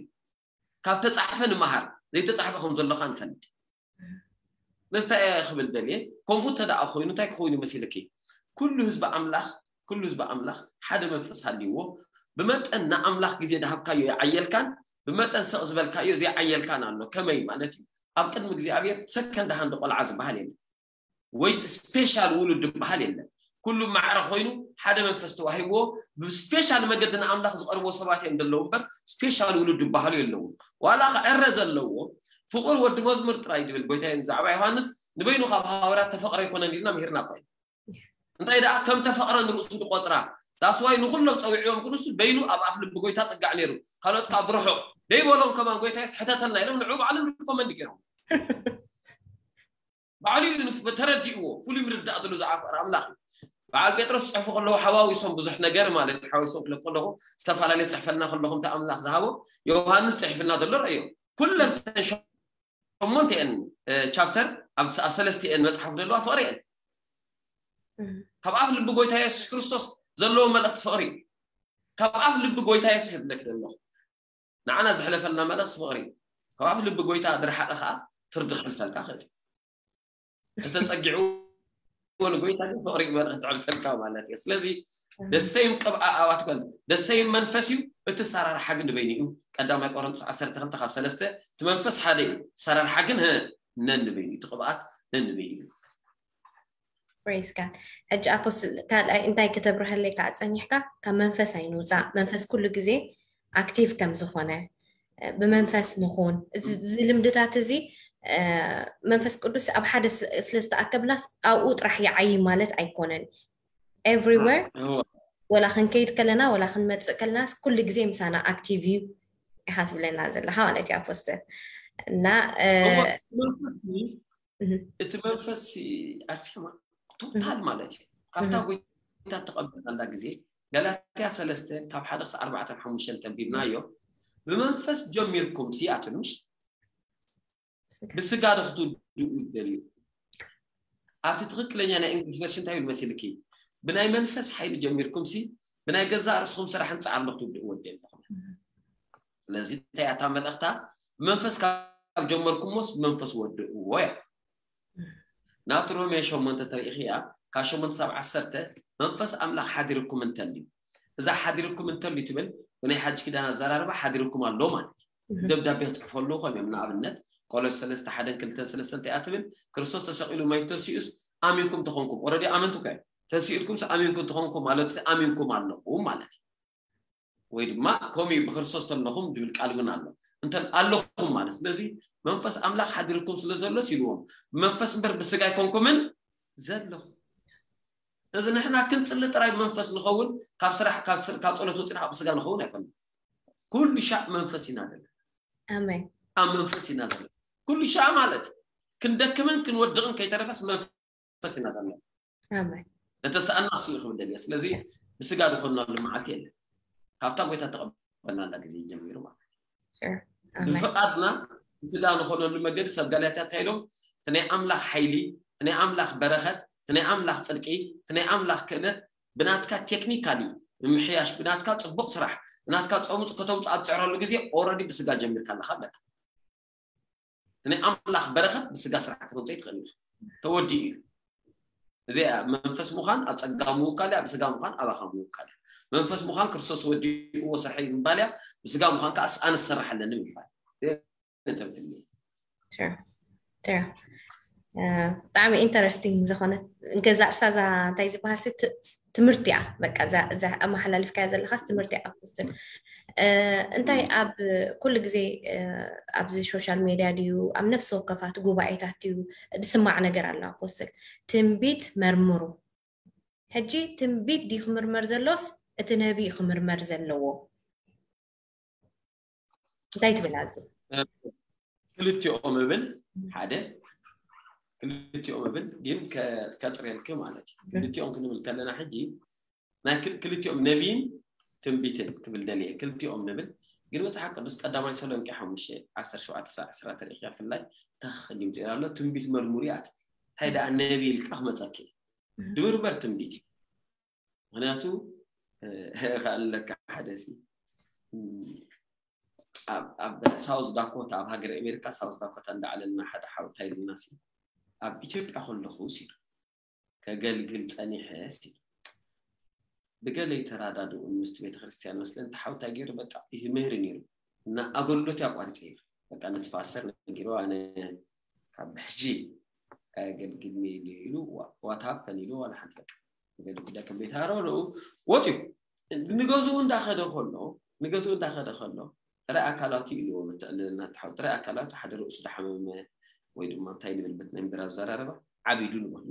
ካብ ተፃሕፈ ንመሃር፣ ዘይተፃሕፈ ከም ዘሎ ኸዓ ንፈልጥ። ነዚ እንታይ እየ ክብል ደልየ? ከምኡ እንተ ደኣ ኮይኑ እንታይ ክኸውን እዩ መሲልኪ? ኩሉ ህዝቢ ኣምላኽ፣ ኩሉ ህዝቢ ኣምላኽ ሓደ መንፈስ ሃልይዎ፣ ብመጠን ንኣምላኽ ግዜ ዝሃብካዮ ይዓየልካን፣ ብመጠን ስቕ ዝበልካዮ ዘይዓየልካን ኣሎ። ከመይ ማለት እዩ? ኣብ ቅድሚ እግዚኣብሔር ሰከንድ ሃንድ ቆልዓ ዝበሃል የለን። ወይ ስፔሻል ውሉድ ዝበሃል የለን። ኩሉ ማዕረ ኮይኑ ሓደ መንፈስ ተዋሂብዎ ብስፔሻል መገዲ ንኣምላኽ ዝቐርብዎ ሰባት እዮም ዘለዉ እምበር ስፔሻል ውሉድ ዝበሃሉ የለዉ። ዋላ ክዕረ ዘለዎ ፍቑር ወዲ መዝሙር ጥራይ ዝብል ጎይታ ብዛዕባ ዮሃንስ ንበይኑ ካብ ሃዋርያት ተፈቕረ ኣይኮነን ኢልና ምሂርና እኮ እዩ። እንታይ ደኣ ከም ተፈቕረ ንርእሱ ዝቆጽራ ዳስዋይ ንኹሎም ጸዊዕዎም ክንሱ በይኑ ኣብ ኣፍ ልቢ ጎይታ ጽጋዕ ነይሩ። ካልኦት ካብ ርሑቕ ደይበሎም ከማን ጎይታ የሱስ ሕተተልና ኢሎም ንዑ ባዕሎም ሪኮመንድ ገይሮም። ባዕሉ እዩ ንፍ- ተረዲእዎ፣ ፍሉይ ምርዳእ ዘሎ ዝዓፈረ ኣምላኽ እዩ። በዓል ጴጥሮስ ዝጽሕፉ ከለዉ ሓዋዊሶም ብዙሕ ነገር ማለት እዩ። ሓዋዊሶም ክለኩ ከለኹ ዝተፈላለየ ጽሕፈልና ከለኹም እቲ ኣምላኽ ዝሃቦ ዮሃንስ ጽሕፍልና ዘሎ ረእዮ። ኩለን ተን ሸሞንተ እየን ቻፕተር ኣብ ኣብ ሰለስተ እየን መጽሓፍ ዘለዋ ፍቕሪ እየን። ካብ ኣፍ ልቢ ጎይታ የሱስ ክርስቶስ ዘለዎ መልእኽቲ ፍቕሪ እዩ። ካብ ኣፍ ልቢ ጎይታ የሱስ የብለክ ዘለኹ ንዓና ዘሕለፈልና መልእኽቲ ፍቕሪ እዩ። ካብ ኣፍ ልቢ ጎይታ ዝረሓቐ ከዓ ፍርዲ ክሕልፈልካ ክእል እዩ። ተተፀጊዕዎ ንጎይታ ግን ፍቕሪ እዩ መልእኽቲ ክሕልፈልካ ማለት እዩ። ስለዚ ደሰይም ቅብኣ ኣዋትከል ደሰይም መንፈስ እዩ። እቲ ሰራርሓ ግን ንበይኑ እዩ። ቀዳማይ ቆሮንቶስ ዓሰርተ ክልተ ካብ ሰለስተ እቲ መንፈስ ሓደ እዩ። ሰራርሓ ግን ህ ነንበይኑ እዩ። እቲ ቅብኣት ነንበይኑ እዩ። ፕሬስ ጋድ። ሕጂ ኣፖስትል ካልኣይ እንታይ ክተብርሀለይ ከዓ ፀኒሕካ? ካብ መንፈስ ኣይንውፃእ። መንፈስ ኩሉ ግዜ ኣክቲቭ ከም ዝኾነ ብመንፈስ ምኹን እዚ ልምድታት እዚ መንፈስ ቅዱስ ኣብ ሓደ ስለ ዝተኣከብናስ ኣብኡ ጥራሕ ይዓይ ማለት ኣይኮነን። ኤቭሪዌር ወላ ክንከይድ ከለና ወላ ክንመፅእ ከለናስ ኩሉ ግዜ ምሳና ኣክቲቭ እዩ ኢኻ ትብለና ዘለኻ ማለት እዩ ኣፖስተል። እና እቲ መንፈስ ኣርሴማ ቶታል ማለት እዩ። ካብታ ጎይታ ተቐበልናላ ግዜ ገላትያ ሰለስተ ካብ ሓደ ክሳብ ኣርባዕተን ሓሙሽተን ተንቢብናዮ። ብመንፈስ ጀሚርኩም ሲ ኣትምሽ ብስጋ ዶ ክትውድኡ ይደልዩ? ኣብቲ ትኽክለኛ ናይ እንግሊሽ ቨርሽን እንታይ ይብል መሲልኪ? ብናይ መንፈስ ሓይሊ ጀሚርኩም ሲ ብናይ ገዛእ ርእስኹም ስራሕን ፃዕርን ዶ ክትውድኡ ወዲ ኣለኹም? ስለዚ እንታይ ኣታ መልእኽታ? ብመንፈስ ካብ ጀመርኩሞስ ብመንፈስ ወድእዎ እያ። ናቱ ሮሜ ሸሞንተ ተሪኢኽያ ካብ ሸሞንተ ሳብ ዓሰርተ መንፈስ ኣምላኽ ሓዲርኩም እንተልዩ እዛ ሓዲርኩም እንተልዩ ትብል ብናይ ሓድሽ ኪዳን ኣዘራርባ ሓዲርኩም ኣሎ ማለት እዩ። ደብዳቤ ክፅሕፈሉ ከም እዮም ንኣብነት ቆሎስ ሰለስተ ሓደን ክልተን ሰለስተ እንታይ እያ ትብል? ክርስቶስ ተሰቒሉ መይቱ ተሲኡስ ኣሚንኩም ተኾንኩም ኦረዲ ኣመንቱ ከ ተሲኡልኩም ኣሚንኩም ተኾንኩም ማለት ኣሚንኩም ኣለኹም ማለት እዩ። ወይ ድማ ከምኡ ብክርስቶስ ተለኹም ዝብል ቃል እውን ኣሎ እንተ ኣለኹም ማለት ስለዚ መንፈስ ኣምላኽ ሓዲርኩም ስለ ዘሎስ ኢልዎም ብመንፈስ እምበር ብስጋ ኣይኮንኩምን ዘለኹም። ስለዚ ንሕና ክንፅሊ ጥራይ ብመንፈስ ንኸውን ካብ ስራሕ ካብ ጸሎት ወፂና ካብ ስጋ ንኸውን ኣይኮነ ኩሉ ሻዕ መንፈስ ኢና ዘለና። ኣብ መንፈስ ኢና ዘለና ኩሉ ሻዕ ማለት ክንደክምን ክንወድቕን ከይተረፈስ መንፈስ መንፈስ ኢና ዘለና። ነተሰኣና እሱ እዩ ክብል ደልየ ስለዚ ብስጋ ዝኾንናሉ መዓልቲ የለን። ካብታ ጎይታ ተቐበልናላ ግዜ ጀሚሩ ማለት ብፍቓድና ብስጋ ዝኾነሉ መገዲ ሰብ ጋላትያ እንታይ ኢሎም እቲ ናይ ኣምላኽ ሓይሊ እቲ ናይ ኣምላኽ በረኸት እቲ ናይ ኣምላኽ ፅድቂ እቲ ናይ ኣምላኽ ክእለት ብናትካ ቴክኒካሊ ምምሕያሽ ብናትካ ፅቡቕ ስራሕ ብናትካ ፀሙፅ ከተምፁ ኣብ ፅዕረሉ ግዜ ኦረዲ ብስጋ ጀሚርካ ኣለካ ኣለካ ናይ ኣምላኽ በረኸት ብስጋ ስራሕ ከተምፀ ትኽእል ተወዲኡ እዩ እዚ መንፈስ ምዃን ኣብ ፀጋ ምውካል ኣብ ስጋ ምዃን ኣባኻ ምውካል መንፈስ ምዃን ክርስቶስ ወዲእዎ ስራሕ ምባል እያ ብስጋ ምዃን ከዓስ ኣነ ዝሰርሕ ኣለኒ ምባል ተንፍል Sure. Sure. ብጣዕሚ ኢንተረስቲንግ ዝኾነት ገዛ ርሳ እዛ እንታይ ዝበሃል ትምህርቲ እያ። በቃ እዛ ኣመሓላልፍካያ ዘለኻስ ትምህርቲ እያ ኣፖስትል። እንታይ ኣብ ኩሉ ግዜ ኣብዚ ሶሻል ሜድያ ድዩ ኣብ ነፍሲ ወከፋት ጉባኤታት ድዩ ዝስማዕ ነገር ኣሎ ኣፖስትል? ትንቢት መርምሩ። ሕጂ ትንቢት ድዩ ክምርመር ዘሎስ እቲ ነቢ ክምርመር ዘለዎ? እንታይ ትብል ኣብዚ? ክልቲኦም እብል ሓደ ክልቲኦም እብል ግን ከፅርየልክ ማለት እዩ። ክልቲኦም ክንብል ከለና ሕጂ ናይ ክልቲኦም ነቢይን ትንቢትን ክብል ደልየ ክልቲኦም ንብል ግን መፅሓፍ ቅዱስ ቀዳማይ ተሰሎንቄ ሓሙሽተ ዓሰርተ ሸውዓተ ክሳብ ዕስራ ተሪእካ ብፍላይ እንታይ ከዲም ትብል ኣሎ ትንቢት መርምሩ እያ ትብል እንታይ ደኣ ነቢ ኢልካ ክመፀኪ ድምርመር ትንቢት እዩ ምክንያቱ ከኣለካ ሓደ ሲ ኣብ ሳውዝ ዳኮታ ኣብ ሃገር ኣሜሪካ ሳውዝ ዳኮታ እንዳዓለልና ሓደ ሓውታ ኢልና ሲ ኣብ ኢትዮጵያ ከለኹ ሲ ከገልግል ጸኒሐ ሲ ብገለ ይተራዳድኡን ምስቲ ቤተክርስትያን መስለን ተሓውታ ገይሩ በቃ ይምህር ነይሩ እና ኣገልግሎት ያቋርጸ ይሩ በቃ ነቲ ፓስተር ነጊሩ ኣነ ካብ ሕጂ ኣገልግልኒ ኢሉ ኢሉ ዋት ሃፐን ኢሉ ዋላ ሓንቲ በቃ ገለ ጉዳይ ከም ቤት ሃረሩ ወፂኡ ንገዝኡ እንዳኸደ ከሎ ንገዝኡ እንዳኸደ ከሎ ጥራይ ኣካላቱ ኢልዎ ምትዕልልና ተሓው ጥራይ ኣካላቱ ሓደ ርእሱ ዳሓመመ ወይ ድማ እንታይ ንብል በት ናይ ምድር ኣዘራረባ ዓቢዱ ንበሉ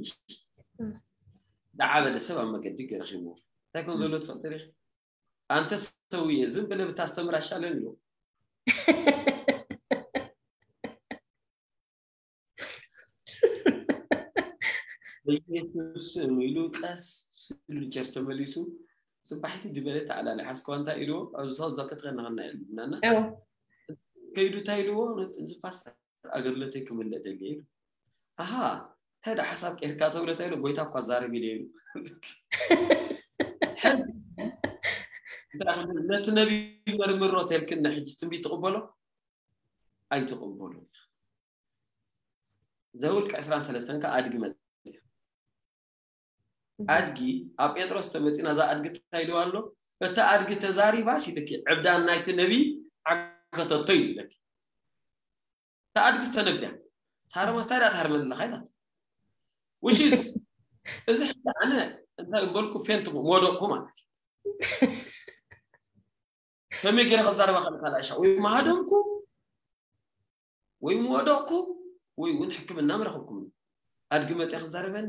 ዳዓበደ ሰብ ኣብ መገዲ ረኺብዎ እንታይ ከም ዘሎ ትፈልጥ ሪኽ ኣንተ ሰውየ ዝም ብለ ብታስተምር ኣሻለን ኢልዎ በኢየሱስ ስም ኢሉ ቀስ ኢሉ ቸር ተመሊሱ ጽባሒቲ ድበለ ተዓላሊ ሓስከዋ እንታይ ኢልዎ ኣብዚ ሳውዝ ዳኮታ ከናኸና ኢልናና ከይዱ እንታይ ኢልዎ እዚ ፓስተር ኣገልግሎተይ ክምልእ ደልየ ኢሉ ኣሃ እንታይ ዳ ሓሳብ ቀይርካ ተብሎ እንታይ ኢሉ ጎይታ እኳ ዛረብ ኢለ ኢሉ ነቲ ነቢ መርምሮ ተልክን ንሕጂ ትንቢት ትቕበሎ ኣይትቕበሉ ዘውልቅ ዕስራን ሰለስተን ከ ኣድጊ መፅያ ኣድጊ ኣብ ጴጥሮስ ተመፂና እዛ ኣድጊ እንታይ ኢልዋ ኣሎ እቲ ኣድጊ ተዛሪባ ሲልኪ ዕብዳን ናይቲ ነቢ ዓገተቶ ይብለኪ እታ ኣድጊ ዝተነብያ ሳረማ ስታይ ዳ ትሃርመኒ ኣለካ ኢላት ውሽስ እዚ ሕጂ ኣነ እንታይ በልኩ ፌንት ወደቅኩ ማለት እዩ ከመይ ገይረ ክዛረባ ከልካ ላሻ ወይ ማሃደምኩ ወይ ምወደቕኩ ወይ እውን ሕክምና ምረኽብኩም ኣድጊ መፅያ ክዛረበኒ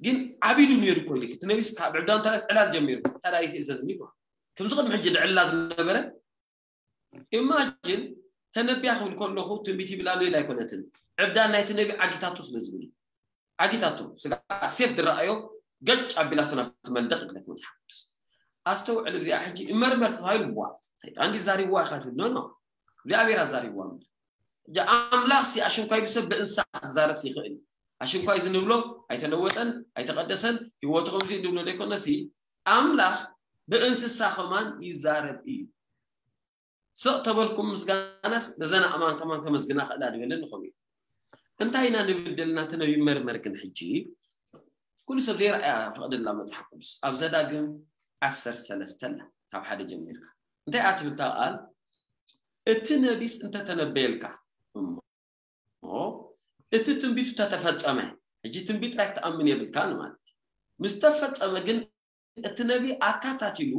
ግን ዓቢዱ ነይሩ እኮ ኢሉ እቲ ነቢስ ካብ ዕብዳን ተላስ ዕላል ጀሚሩ ታዲያ ኣይትእዘዝኒ ይበሃል ከምዚ ቅድሚ ሕጂ ድዕላ ዝነበረ ኢማጅን ተነቢያ ክብል ከለኹ ትንቢት ይብል ኣሎ ኢላ ኣይኮነትን ዕብዳን ናይቲ ነቢ ዓጊታቱ ስለ ዝብል እዩ ዓጊታቱ ስጋ ሴፍ ዝረኣዮ ገጭ ኣቢላቱ ናብቲ መንደቕ ይብለክ መፅሓፍ ቅዱስ ኣስተውዕል እዚኣ ሕጂ እመርመር ተባሂሉ ዋ ሰይጣን ዲዛሪብዋ ኢኻ ትብል ኖ እግዚኣብሔር ኣዛሪብዋ እምበር ሕጂ ኣምላኽ ሲ ኣሽንኳይ ብሰብ ብእንስሳ ክዛረብ ይኽእል ኣሽንኳይ ዝንብሎ ኣይተለወጠን ኣይተቐደሰን ህይወቱ ከምዚ ንብሎ ዘይኮነሲ ኣምላኽ ብእንስሳ ከማን ይዛረብ እዩ ስቕ ተበልኩም ምስጋናስ ነዘን ኣእማን ከማን ከመስግና ክእላ ድበለ ንኸም እዩ እንታይ ኢና ንብል ደልና እቲ ነቢ መርመር ግን ሕጂ ኩሉ ሰብ ዘይረኣያ ፈቕድላ መፅሓፍ ቅዱስ ኣብ ዘዳግም ዓሰርተ ሰለስተ ኣላ ካብ ሓደ ጀሚርካ እንታይ እያ ትብል እታ ቃል እቲ ነቢስ እንተተነበየልካ እሞ እቲ ትንቢቱ ተተፈጸመ ሕጂ ትንቢት ጥራይ ክትኣምን የብልካን ማለት እዩ ምስ ተፈጸመ ግን እቲ ነቢ ኣካታቲሉ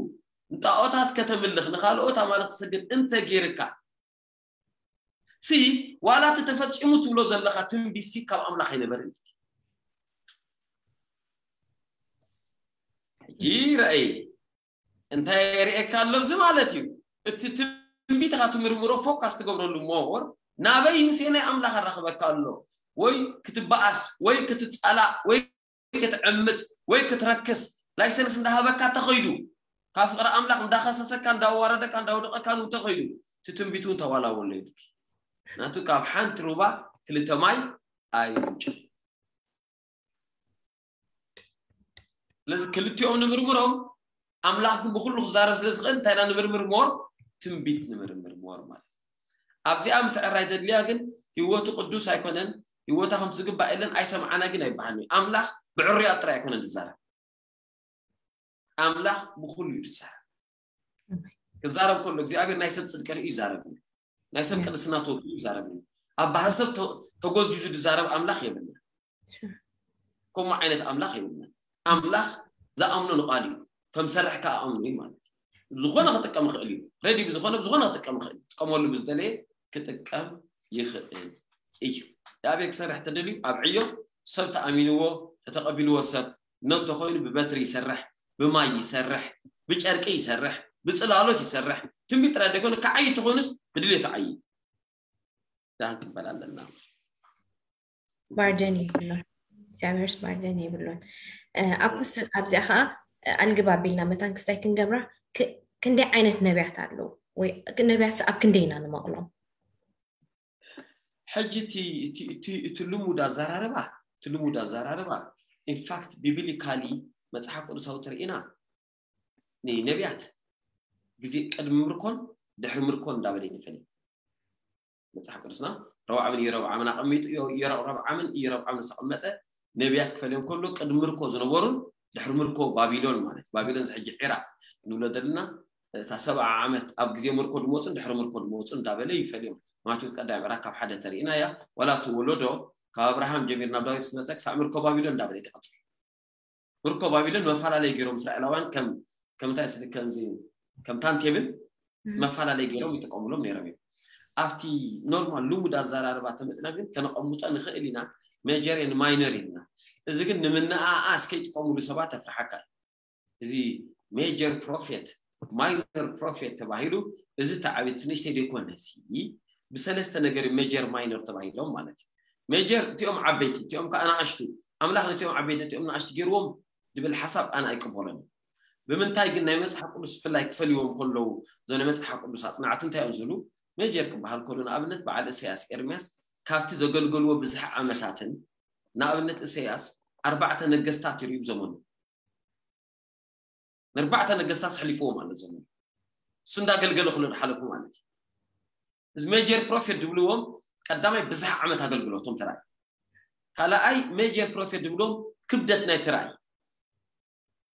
ንጣዖታት ከተምልኽ ንኻልኦት ኣማልኽ ትሰግድ እንተ ጌርካ ሲ ዋላ እቲ ተፈጺሙ ትብሎ ዘለኻ ትንቢት ሲ ካብ ኣምላኽ ኣይነበርን ሕጂ ረኣይ እንታይ የርእየካ ኣሎ እዚ ማለት እዩ እቲ ትንቢትኻ ትምርምሮ ፎካስ ትገብረሉ ሞር ናበይ ምሴ ናይ ኣምላኽ ኣራኽበካ ኣሎ ወይ ክትበኣስ ወይ ክትጸላእ ወይ ክትዕምፅ ወይ ክትረክስ ላይሰንስ እንዳሃበካ ተኸይዱ ካብ ፍቅሪ ኣምላኽ እንዳኸሰሰካ እንዳዋረደካ እንዳወደቀካ እውን ተኸይዱ እቲ ትንቢት እውን ተዋላወሎ ይብልኪ ናቱ ካብ ሓንቲ ሩባ ክልተ ማይ ኣይምንጭ ስለዚ ክልቲኦም ንምርምሮም ኣምላኽ ግን ብኩሉ ክዛረብ ስለ ዝኽእል እንታይ ኢና ንምርምር ሞር ትንቢት ንምርምር ሞር ማለት ኣብዚኣ ምትዕራይ ዘድልያ ግን ህይወቱ ቅዱስ ኣይኮነን ህይወታ ከም ዝግባእ የለን ኣይሰምዓና ግን ኣይበሃል ኣምላኽ ብዕሩያት ጥራይ ኣይኮነን ዝዛረብ ኣምላኽ ብኩሉ እዩ ዝዛረብ ክዛረብ ከሎ እግዚኣብሔር ናይ ሰብ ፅድቂ ርእዩ ይዛረብ ናይ ሰብ ቅድስና ተወኪሉ ይዛረብ እዩ። ኣብ ባህር ሰብ ተ- ተጎዝጊዙ ዝዛረብ ኣምላኽ የብልና። ከምኡ ዓይነት ኣምላኽ የብልና። ኣምላኽ ዝኣምኖ ንቓሉ እዩ። ከም ሰርሕ ከኣ ኣምኖ እዩ ማለት እዩ። ዝኾነ ክጥቀም ይኽእል እዩ። ሬዲ ብዝኾነ ብዝኾነ ክጥቀም ይኽእል እዩ። ክጥቀመሉ ብዝደለየ ክጥቀም ይኽእል እዩ። የኣቤል ክሰርሕ ተደልዩ ኣብ ዕዮ ሰብ ተኣሚንዎ ተተቐቢልዎ ሰብ ነቶ ኮይኑ ብበትሪ ይሰርሕ፣ ብማይ ይሰርሕ፣ ብጨርቂ ይሰርሕ፣ ብፅላሎት ይሰርሕ። ትንቢት ጥራይ ዘይኮነ ክዓይ ተኾይኑስ ብድሌቱ ዓይ ዳን ክበል ኣለና። ማርጀን የብሉን። እግዚኣብሔርስ ማርጀን የብሉን። ኣፖስትል ኣብዚኣ ከዓ ኣልግብ ኣቢልና መታን ክስታይ ክንገብራ ክንደይ ዓይነት ነቢያት ኣለዉ ወይ ነቢያት ኣብ ክንደይ ኢና ንመቕሎም? ሕጂ እቲ ልሙድ ኣዘራርባ እቲ ልሙድ ኣዘራርባ ኢንፋክት ቢብሊካሊ መፅሓፍ ቅዱሳዊ ተርእና ንነቢያት ግዜ ቅድሚ ምርኮን ድሕሪ ምርኮን እንዳበለ ይንፈል መፅሓፍ ቅዱስና ረብዓምን ኢዮረብዓምን ኣቐሚጡ ኢዮረብዓምን ኢዮረብዓምን ዝተቐመጠ ነቢያት ክፈልዮም ከሎ ቅድሚ ምርኮ ዝነበሩን ድሕሪ ምርኮ ባቢሎን ማለት ባቢሎን ዝሕጂ ዒራቅ ንብሎ ዘለና እታ ሰብዓ ዓመት ኣብ ግዜ ምርኮ ድመፁን ድሕሪ ምርኮ ድመፁን እንዳበለ ይፈልዮም ማቴዎስ ቀዳይ ምዕራፍ ካብ ሓደ ተርእና እያ ዋላ እቲ ወለዶ ካብ ኣብርሃም ጀሚር ናብ ዳዊት ዝመፀ ክሳዕ ምርኮ ባቢሎን እንዳበለ ይቀፅል ምርኮ ባቢሎን መፈላለይ ገይሮም እስራኤላውያን ከም ከምታይ ስል ከምዚ ከም ታንቴብል መፈላለይ ገይሮም ይጥቀሙሎም ነይሮም እዮም ኣብቲ ኖርማል ልሙድ ኣዘራርባ ተመፅና ግን ከነቐምጦ ንኽእል ኢና ሜጀር ን ማይነር ኢልና እዚ ግን ንምንኣኣስ ከይጥቀሙሉ ሰባት ኣፍርሓካ እዩ እዚ ሜጀር ፕሮፌት ማይነር ፕሮፌት ተባሂሉ እዚ ተዓቤት ንእሽተይ ዘይኮነሲ ብሰለስተ ነገር ሜጀር ማይነር ተባሂሎም ማለት እዩ ሜጀር እቲኦም ዓበይቲ እቲኦም ከዓ ንኣሽቱ ኣምላኽ ነቲኦም ዓበይቲ እቲኦም ንኣሽቱ ገይርዎም ዝብል ሓሳብ ኣነ ኣይቅበሎን ብምንታይ ግን ናይ መፅሓፍ ቅዱስ ብፍላይ ክፈልይዎም ከለዉ እዞም ናይ መፅሓፍ ቅዱስ ኣፅናዕቲ እንታይ እዮም ዝብሉ ሜጀር ክበሃል ከሎ ንኣብነት በዓል እሰያስ ኤርምያስ ካብቲ ዘገልገልዎ ብዝሒ ዓመታትን ንኣብነት እሰያስ ኣርባዕተ ነገስታት ይርእዩ ብዘመኑ ንኣርባዕተ ነገስታት ኣሕሊፍዎም ኣሎ ዘመኑ እሱ እንዳገልገለ ክሎ ሓለፉ ማለት እዩ እዚ ሜጀር ፕሮፌት ዝብልዎም ቀዳማይ ብዝሒ ዓመት ኣገልግሎቶም ተራእዩ ካልኣይ ሜጀር ፕሮፌት ዝብልዎም ክብደት ናይ ተራእዩ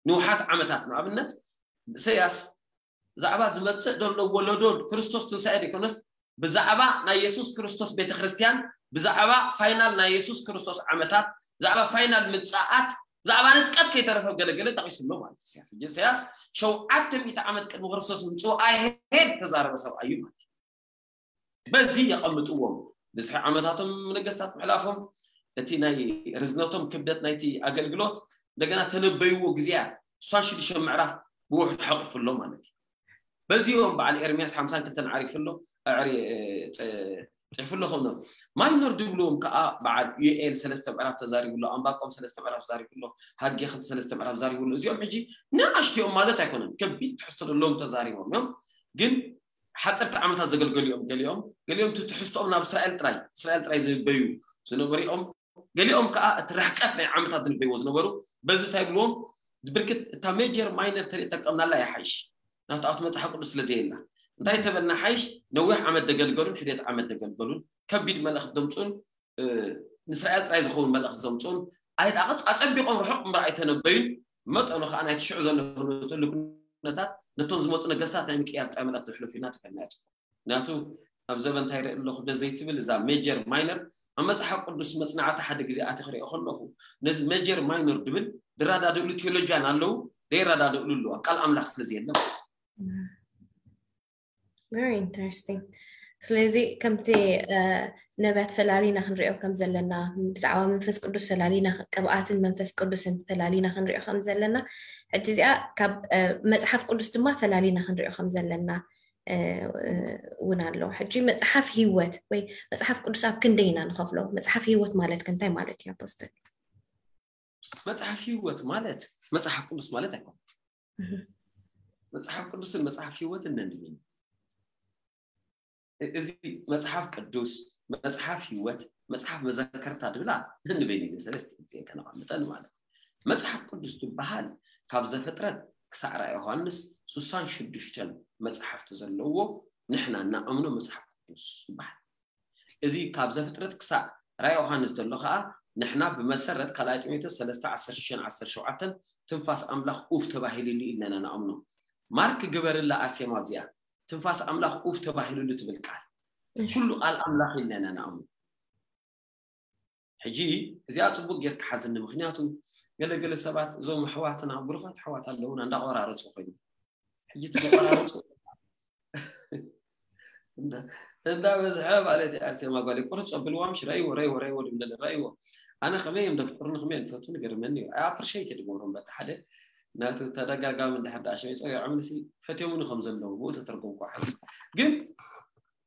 ንውሓት ዓመታት ንኣብነት እሰያስ ብዛዕባ ዝመፅእ ዘሎ ወለዶ ክርስቶስ ትንሳኤ ዘይኮነስ ብዛዕባ ናይ የሱስ ክርስቶስ ቤተክርስትያን ብዛዕባ ፋይናል ናይ የሱስ ክርስቶስ ዓመታት ብዛዕባ ፋይናል ምፃኣት ብዛዕባ ንጥቀት ከይተረፈ ገለገለ ጠቂሱ ኣሎ ማለት እሰያስ ሕጂ እሰያስ ሸውዓተ ሚእቲ ዓመት ቅድሚ ክርስቶስ ምፅኡ ኣይሄድ ተዛረበ ሰብኣዩ ማለት በዚ የቐምጥዎም ብዝሒ ዓመታቶም ነገስታት ምሕላፎም እቲ ናይ ርዝነቶም ክብደት ናይቲ ኣገልግሎት እንደገና ተነበይዎ ግዜያት እሷን ሽዱሽተ ምዕራፍ ብውሕድ ሓቑፉ ኣሎ ማለት እዩ በዚኦም በዓል ኤርምያስ ሓምሳን ክልተን ዓሪፉ ኣሎ ጽሕፉ ኣሎ ከምኖ ማይኖር ድብልዎም ከዓ በዓል ዩኤል ሰለስተ ምዕራፍ ተዛሪቡ ኣሎ ኣንባቆም ሰለስተ ምዕራፍ ተዛሪቡ ኣሎ ሃጌ ክልተ ሰለስተ ምዕራፍ ተዛሪቡ ኣሎ እዚኦም ሕጂ ንኣሽቲኦም ማለት ኣይኮነን ከቢድ ትሕዝቶ ዘለዎም ተዛሪቦም እዮም ግን ሓፀርቲ ዓመታት ዘገልገሉ እዮም ገሊኦም ገሊኦም እቲ ትሕዝቶኦም ናብ እስራኤል ጥራይ እስራኤል ጥራይ ዝበዩ ዝነበሩ እዮም ገሊኦም ከዓ እቲ ርሕቀት ናይ ዓመታት ዝንበይዎ ዝነበሩ በዚ እንታይ ብልዎም ብርክት እታ ሜጀር ማይነር ተርኢ ጠቀምናላ ይሓይሽ ናብቲ ኣብቲ መፅሓፍ ቅዱስ ስለ ዘየላ እንታይ ተበልና ሓይሽ ነዊሕ ዓመት ደገልገሉን ሕደት ዓመት ደገልገሉን ከቢድ መልእኽቲ ዘምፅኡን ንእስራኤል ጥራይ ዝኸውን መልእኽቲ ዘምፅኡን ኣይዳቕፅ ኣፀቢቖም ርሑቕ እምበር ኣይተነበዩን መጠኑ ከዓ ናይቲ ሽዑ ዘሎ ኩነታት ነቶም ዝመፁ ነገስታት ናይ ምቅያር ጥራይ መልእኽቲ ዝሕልፉ ኢና ተፈልና ያፅቁ ምክንያቱ ኣብ ዘበን እንታይ ርኢ ኣለኹ ደ ዘይትብል እዛ ሜጀር ማይነር ኣብ መፅሓፍ ቅዱስ መፅናዕቲ ሓደ ግዜ ኣቲ ክሪኦ ከለኹ ነዚ ሜጀር ማይነር ድብል ድራዳድእሉ ቴዎሎጂያን ኣለዉ ደይራዳድእሉ ኣለዉ ኣብ ቃል ኣምላኽ ስለ ዘየለ very interesting ስለዚ ከምቲ ነቢያት ፈላሊና ክንሪኦ ከም ዘለና ብዛዕባ መንፈስ ቅዱስ ፈላሊና ቅብኣትን መንፈስ ቅዱስን ፈላሊና ክንሪኦ ከም ዘለና ሕጂ እዚኣ ካብ መፅሓፍ ቅዱስ ድማ ፈላሊና ክንሪኦ ከም ዘለና እውን ኣሎ ሕጂ መፅሓፍ ህይወት ወይ መፅሓፍ ቅዱስ ኣብ ክንደይ ኢና ንኸፍሎ መፅሓፍ ህይወት ማለት ከ እንታይ ማለት እዩ ኣፖስትል መፅሓፍ ህይወት ማለት መፅሓፍ ቅዱስ ማለት ኣይኮነ መፅሓፍ ቅዱስን መፅሓፍ ህይወትን ነንድብን እዚ መፅሓፍ ቅዱስ መፅሓፍ ህይወት መፅሓፍ መዘከርታ ድብላ ነንበይነ ሰለስተ ግዜ ከነቐምጠን ማለት መፅሓፍ ቅዱስ ዝበሃል ካብ ዘፍጥረት ክሳዕ ራእይ ዮሃንስ ስሳን ሽዱሽተን መፅሓፍቲ ዘለዎ ንሕና እናኣምኖ መፅሓፍ ቅዱስ ይበሃል እዚ ካብ ዘፍጥረት ክሳዕ ራእይ ዮሃንስ ዘሎ ከዓ ንሕና ብመሰረት ካልኣይ ጢሞቴዎስ ሰለስተ ዓሰርተ ሽዱሽተ ዓሰርተ ሸውዓተ ትንፋስ ኣምላኽ ኡፍ ተባሂሉሉ ኢልና ኢና ንኣምኖ ማርክ ግበርላ ኣርሴማ ኣብዚኣ ትንፋስ ኣምላኽ ኡፍ ተባሂሉሉ ትብል ቃል ኩሉ ቃል ኣምላኽ ኢልና ኢና ንኣምኑ። ሕጂ እዚኣ ጽቡቅ ጌርካ ሓዝኒ። ምክንያቱ ገለገለ ሰባት እዞም ኣሕዋትና ብሩኻት ኣሕዋት ኣለውና እንዳቆራረጹ ኮይኑ ሕጂ ትቆራረጹ እንዳ በዝሐ ማለት ኣርሴማ ጓል ቁርጽ ኣብልዋ ምሽ ረይዎ ረይዎ ረይዎ ድምደለ ረይዎ ኣነ ከመይ እዮም ደፍቅሩኒ ከመይ እዮም ፈቱኒ ገርመኒ እዩ ኣይ ኣፕሪሼት ድገብሮም በቲ ሓደ ናቱ ተደጋጋሚ እንድሕር ዳኣ ሸሚጾ ይዖምልሲ ፈትዮምኒ ከም ዘለዉ ብኡ ተተርጎምኩ ሓ ግን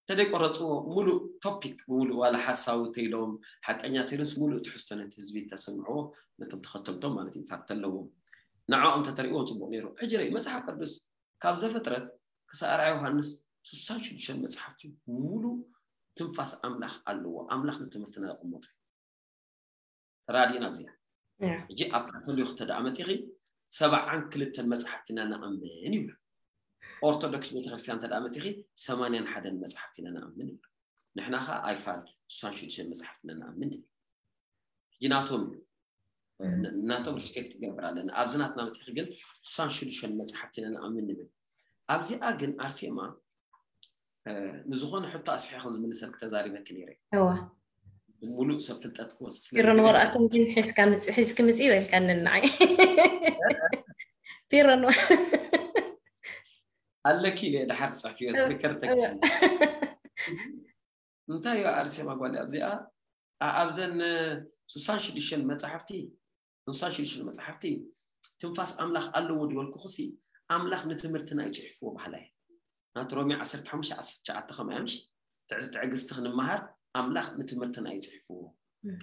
ተደይቆረፅዎ ሙሉእ ቶፒክ ብሙሉእ ዋላ ሓሳዊ ተይሎም ሓቀኛ ተይሎስ ሙሉእ ትሕዝቶ ነቲ ህዝቢ ተሰምዕዎ ነቶም ተኸተልቶም ማለት ኢንፋክት ኣለዎም ንዕኦም ተተሪእዎም ፅቡቅ ነይሩ ሕጂ ርኢ መፅሓፍ ቅዱስ ካብ ዘፍጥረት ክሳብ ራእይ ዮሃንስ ስሳን ሽዱሽተን መፅሓፍቲ ሙሉእ ትንፋስ ኣምላኽ ኣለዎ ኣምላኽ ንትምህርትና ዘቐመጦ ተራዲእና ኣብዚኣ ሕጂ ኣብ ካቶሊክ ተደኣ መፂኺ ሰብዓን ክልተን መፅሓፍቲ ኢና ንኣምን ይብሉ ኦርቶዶክስ ቤተክርስትያን ተደኣ መፂኺ ሰማንያን ሓደን መፅሓፍቲ ኢና ንኣምን ይብሉ ንሕና ከዓ ኣይፋል ስሳን ሽዱሽተን መፅሓፍቲ ኢና ንኣምን ይብል ሕጂ ናቶም እዩ ናቶም ሪስፔክት ይገብር ኣለና ኣብዚ ናትና መፅኺ ግን ስሳን ሽዱሽተን መፅሓፍቲ ኢና ንኣምን ንብል ኣብዚኣ ግን ኣርሴማ ንዝኾነ ሕቶ ኣስፊሐ ከም ዝምልሰልክ ተዛሪበኪ ነይረ እዋ ሙሉእ ሰብ ፍልጠት ክወስድ ስለ ቢሮን ዝግደድ፣ ወረቐትን ግን ሒዝካ ምጽ- ሒዝኪ ምጽ ይበልካኒ ንዓይ ቢሮን ወ- ኣለኪ ኢለ ድሓር ዝፅሕፍዮ ስሊከር ተኪ እዋ። እንታይ እዩ ኣርሴማ ጓል ኣብዚኣ ኣ- ኣብዘን ስሳን ሽዱሽተን መፅሓፍቲ ንሳ ሽዱሽተ መፅሓፍቲ ትንፋስ ኣምላኽ ኣለዎ ዝበልኩኹሲ ኣምላኽ ንትምህርትና እዩ ፅሒፍዎ በሃላ እየ ናቲ ሮሜ ዓሰርተ ሓሙሽተ ዓሰርተ ትሽዓተ ከምኡ እያ ምሽ ትዕዝ ትዕግስቲ ክንመሃር ኣምላኽ ንትምህርትና እዩ ፅሒፍዎ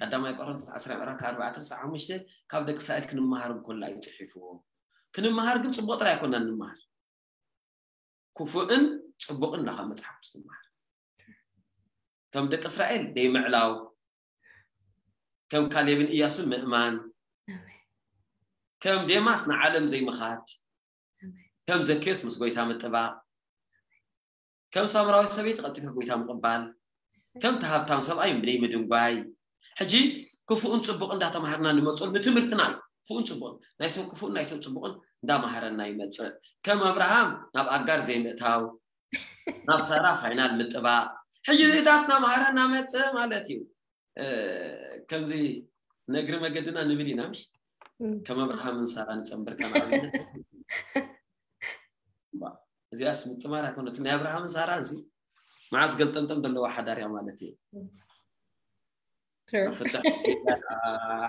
ቀዳማይ ቆሮንቶስ ዓስራ ምዕራፍ ካብ ኣርባዕተ ክሳብ ሓሙሽተ ካብ ደቂ እስራኤል ክንመሃር እንኮላ እዩ ፅሒፍዎ ክንመሃር ግን ፅቡቅ ጥራይ ኣይኮና እንመሃር ክፉእን ፅቡቅን ኢኻ መፅሓፍ ቅዱስ ትመሃር ከም ደቂ እስራኤል ደይምዕላው ከም ካሌብን እያሱን ምእማን ከም ዴማስ ንዓለም ዘይምኻድ ከም ዘኬዮስ ምስ ጎይታ ምጥባቕ ከም ሳምራዊት ሰበይቲ ቀልጢፈ ጎይታ ምቕባል ከም ተሃብታም ሰብኣይ ብደይ ምድንጓይ ሕጂ ክፉእን ፅቡቅ እንዳተማሃርና ንመፅሉ ንትምህርትና እዩ ክፉእን ፅቡቅን ናይ ሰብ ክፉእን ናይ ሰብ ፅቡቅን እንዳማሃረና ይመፅእ ከም ኣብርሃም ናብ ኣጋር ዘይምእታው ናብ ሳራ ፋይናል ምጥባቅ ሕጂ እዚታት እናማሃረና መፅእ ማለት እዩ ከምዚ ነግሪ መገድና ንብል ኢና ምሽ ከም ኣብርሃምን ሳራ ንፀንበርካ ንኣብነት እዚኣስ ምጥማር ኣይኮነትን ናይ ኣብርሃምን ሳራን ሲ መዓት ገልጠምጠም ዘለዋ ሓዳር እያ ማለት እዩ ፍትሕ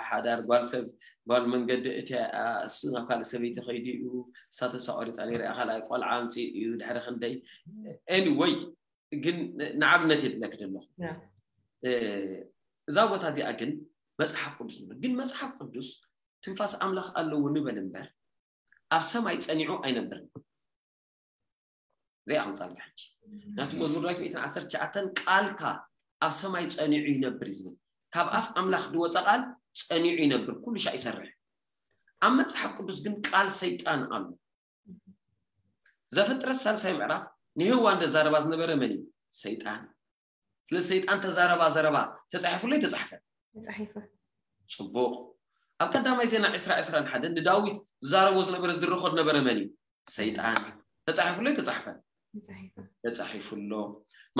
ሓዳር ጓል ሰብ ጓል መንገዲ እቲ እሱ ናብ ካልእ ሰበይቲ ከይዱ እዩ እሳ ተስፋ ቆሪፃ ነይራ ካልኣይ ቆልዓ ኣምፂኡ እዩ ድሕሪ ክንደይ ኤኒወይ ግን ንኣብነት የድለክ ዘለኹ እዛ ቦታ እዚኣ ግን መፅሓፍ ቅዱስ ንብል ግን መፅሓፍ ቅዱስ ትንፋስ ኣምላኽ ኣለዎ ንበል እምበር ኣብ ሰማይ ፀኒዑ ኣይነብርን እዚኣ ከምፃልካ ሕጂ ናቲ መዝሙር ዳዊት ሚእትን ዓሰርተ ትሽዓተን ቃልካ ኣብ ሰማይ ፀኒዑ ይነብር እዩ ዝብል ካብ ኣፍ ኣምላኽ ዝወፀ ቃል ፀኒዑ ይነብር ኩሉ ሻዕ ይሰርሕ ኣብ መፅሓፍ ቅዱስ ግን ቃል ሰይጣን ኣሎ ዘፍጥረት ሳልሳይ ምዕራፍ ንህዋ እንደዛረባ ዝነበረ መን እዩ ሰይጣን ስለ ሰይጣን ተዛረባ ዘረባ ተፃሒፉለይ ተፃሕፈ ተፃሒፈ ፅቡቅ ኣብ ቀዳማይ ዜና ዕስራ ዕስራን ሓደን ንዳዊት ዝዛረቦ ዝነበረ ዝድርኾ ዝነበረ መን እዩ ሰይጣን ተፃሒፉለይ ተፃሕፈ ተፃሒፉ ተፃሒፉሎ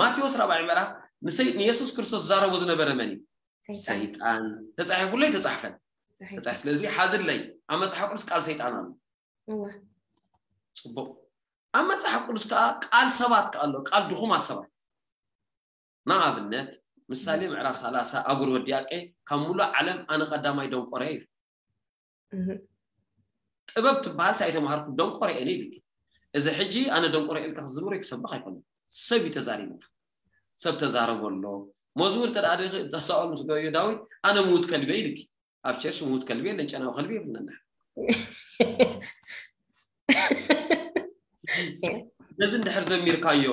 ማቴዎስ ራብዓይ ምዕራፍ ንሰይ- ንየሱስ ክርስቶስ ዝዛረቦ ዝነበረ መን እዩ ሰይጣን ተፃሒፉለይ ተፃሕፈ ተፃሒፉ ተፃሒ ስለዚ ሓዝለይ ኣብ መፅሓፍ ቅዱስ ቃል ሰይጣን ኣሎ እወ ፅቡቅ ኣብ መፅሓፍ ቅዱስ ከዓ ቃል ሰባት ከዓ ኣሎ ቃል ድኹማት ሰባት ንኣብነት ምሳሌ ምዕራፍ ሰላሳ ኣጉር ወዲያቄ ካብ ሙሉእ ዓለም ኣነ ቀዳማይ ደንቆረ እዩ እህ ጥበብ ትበሃል ሳይ ተምሃርኩ ደንቆረ እየ ኢልኪ እዚ ሕጂ ኣነ ደንቆረ ኢልካ ክዝምሮ ክሰብኽ ኣይኮነ ሰብ እዩ ተዛሪብካ ሰብ ተዛረቦ ኣሎ መዝሙር ተዳኣ ተሳኦል ምስ ገበዮ ዳዊት ኣነ ምውት ከልቢ እየ ኢልኪ ኣብ ቸርች ምውት ከልቢ የለን ጨናዊ ከልቢ የብልና እንድሕር ነዚ እንድሕር ዘሚርካዮ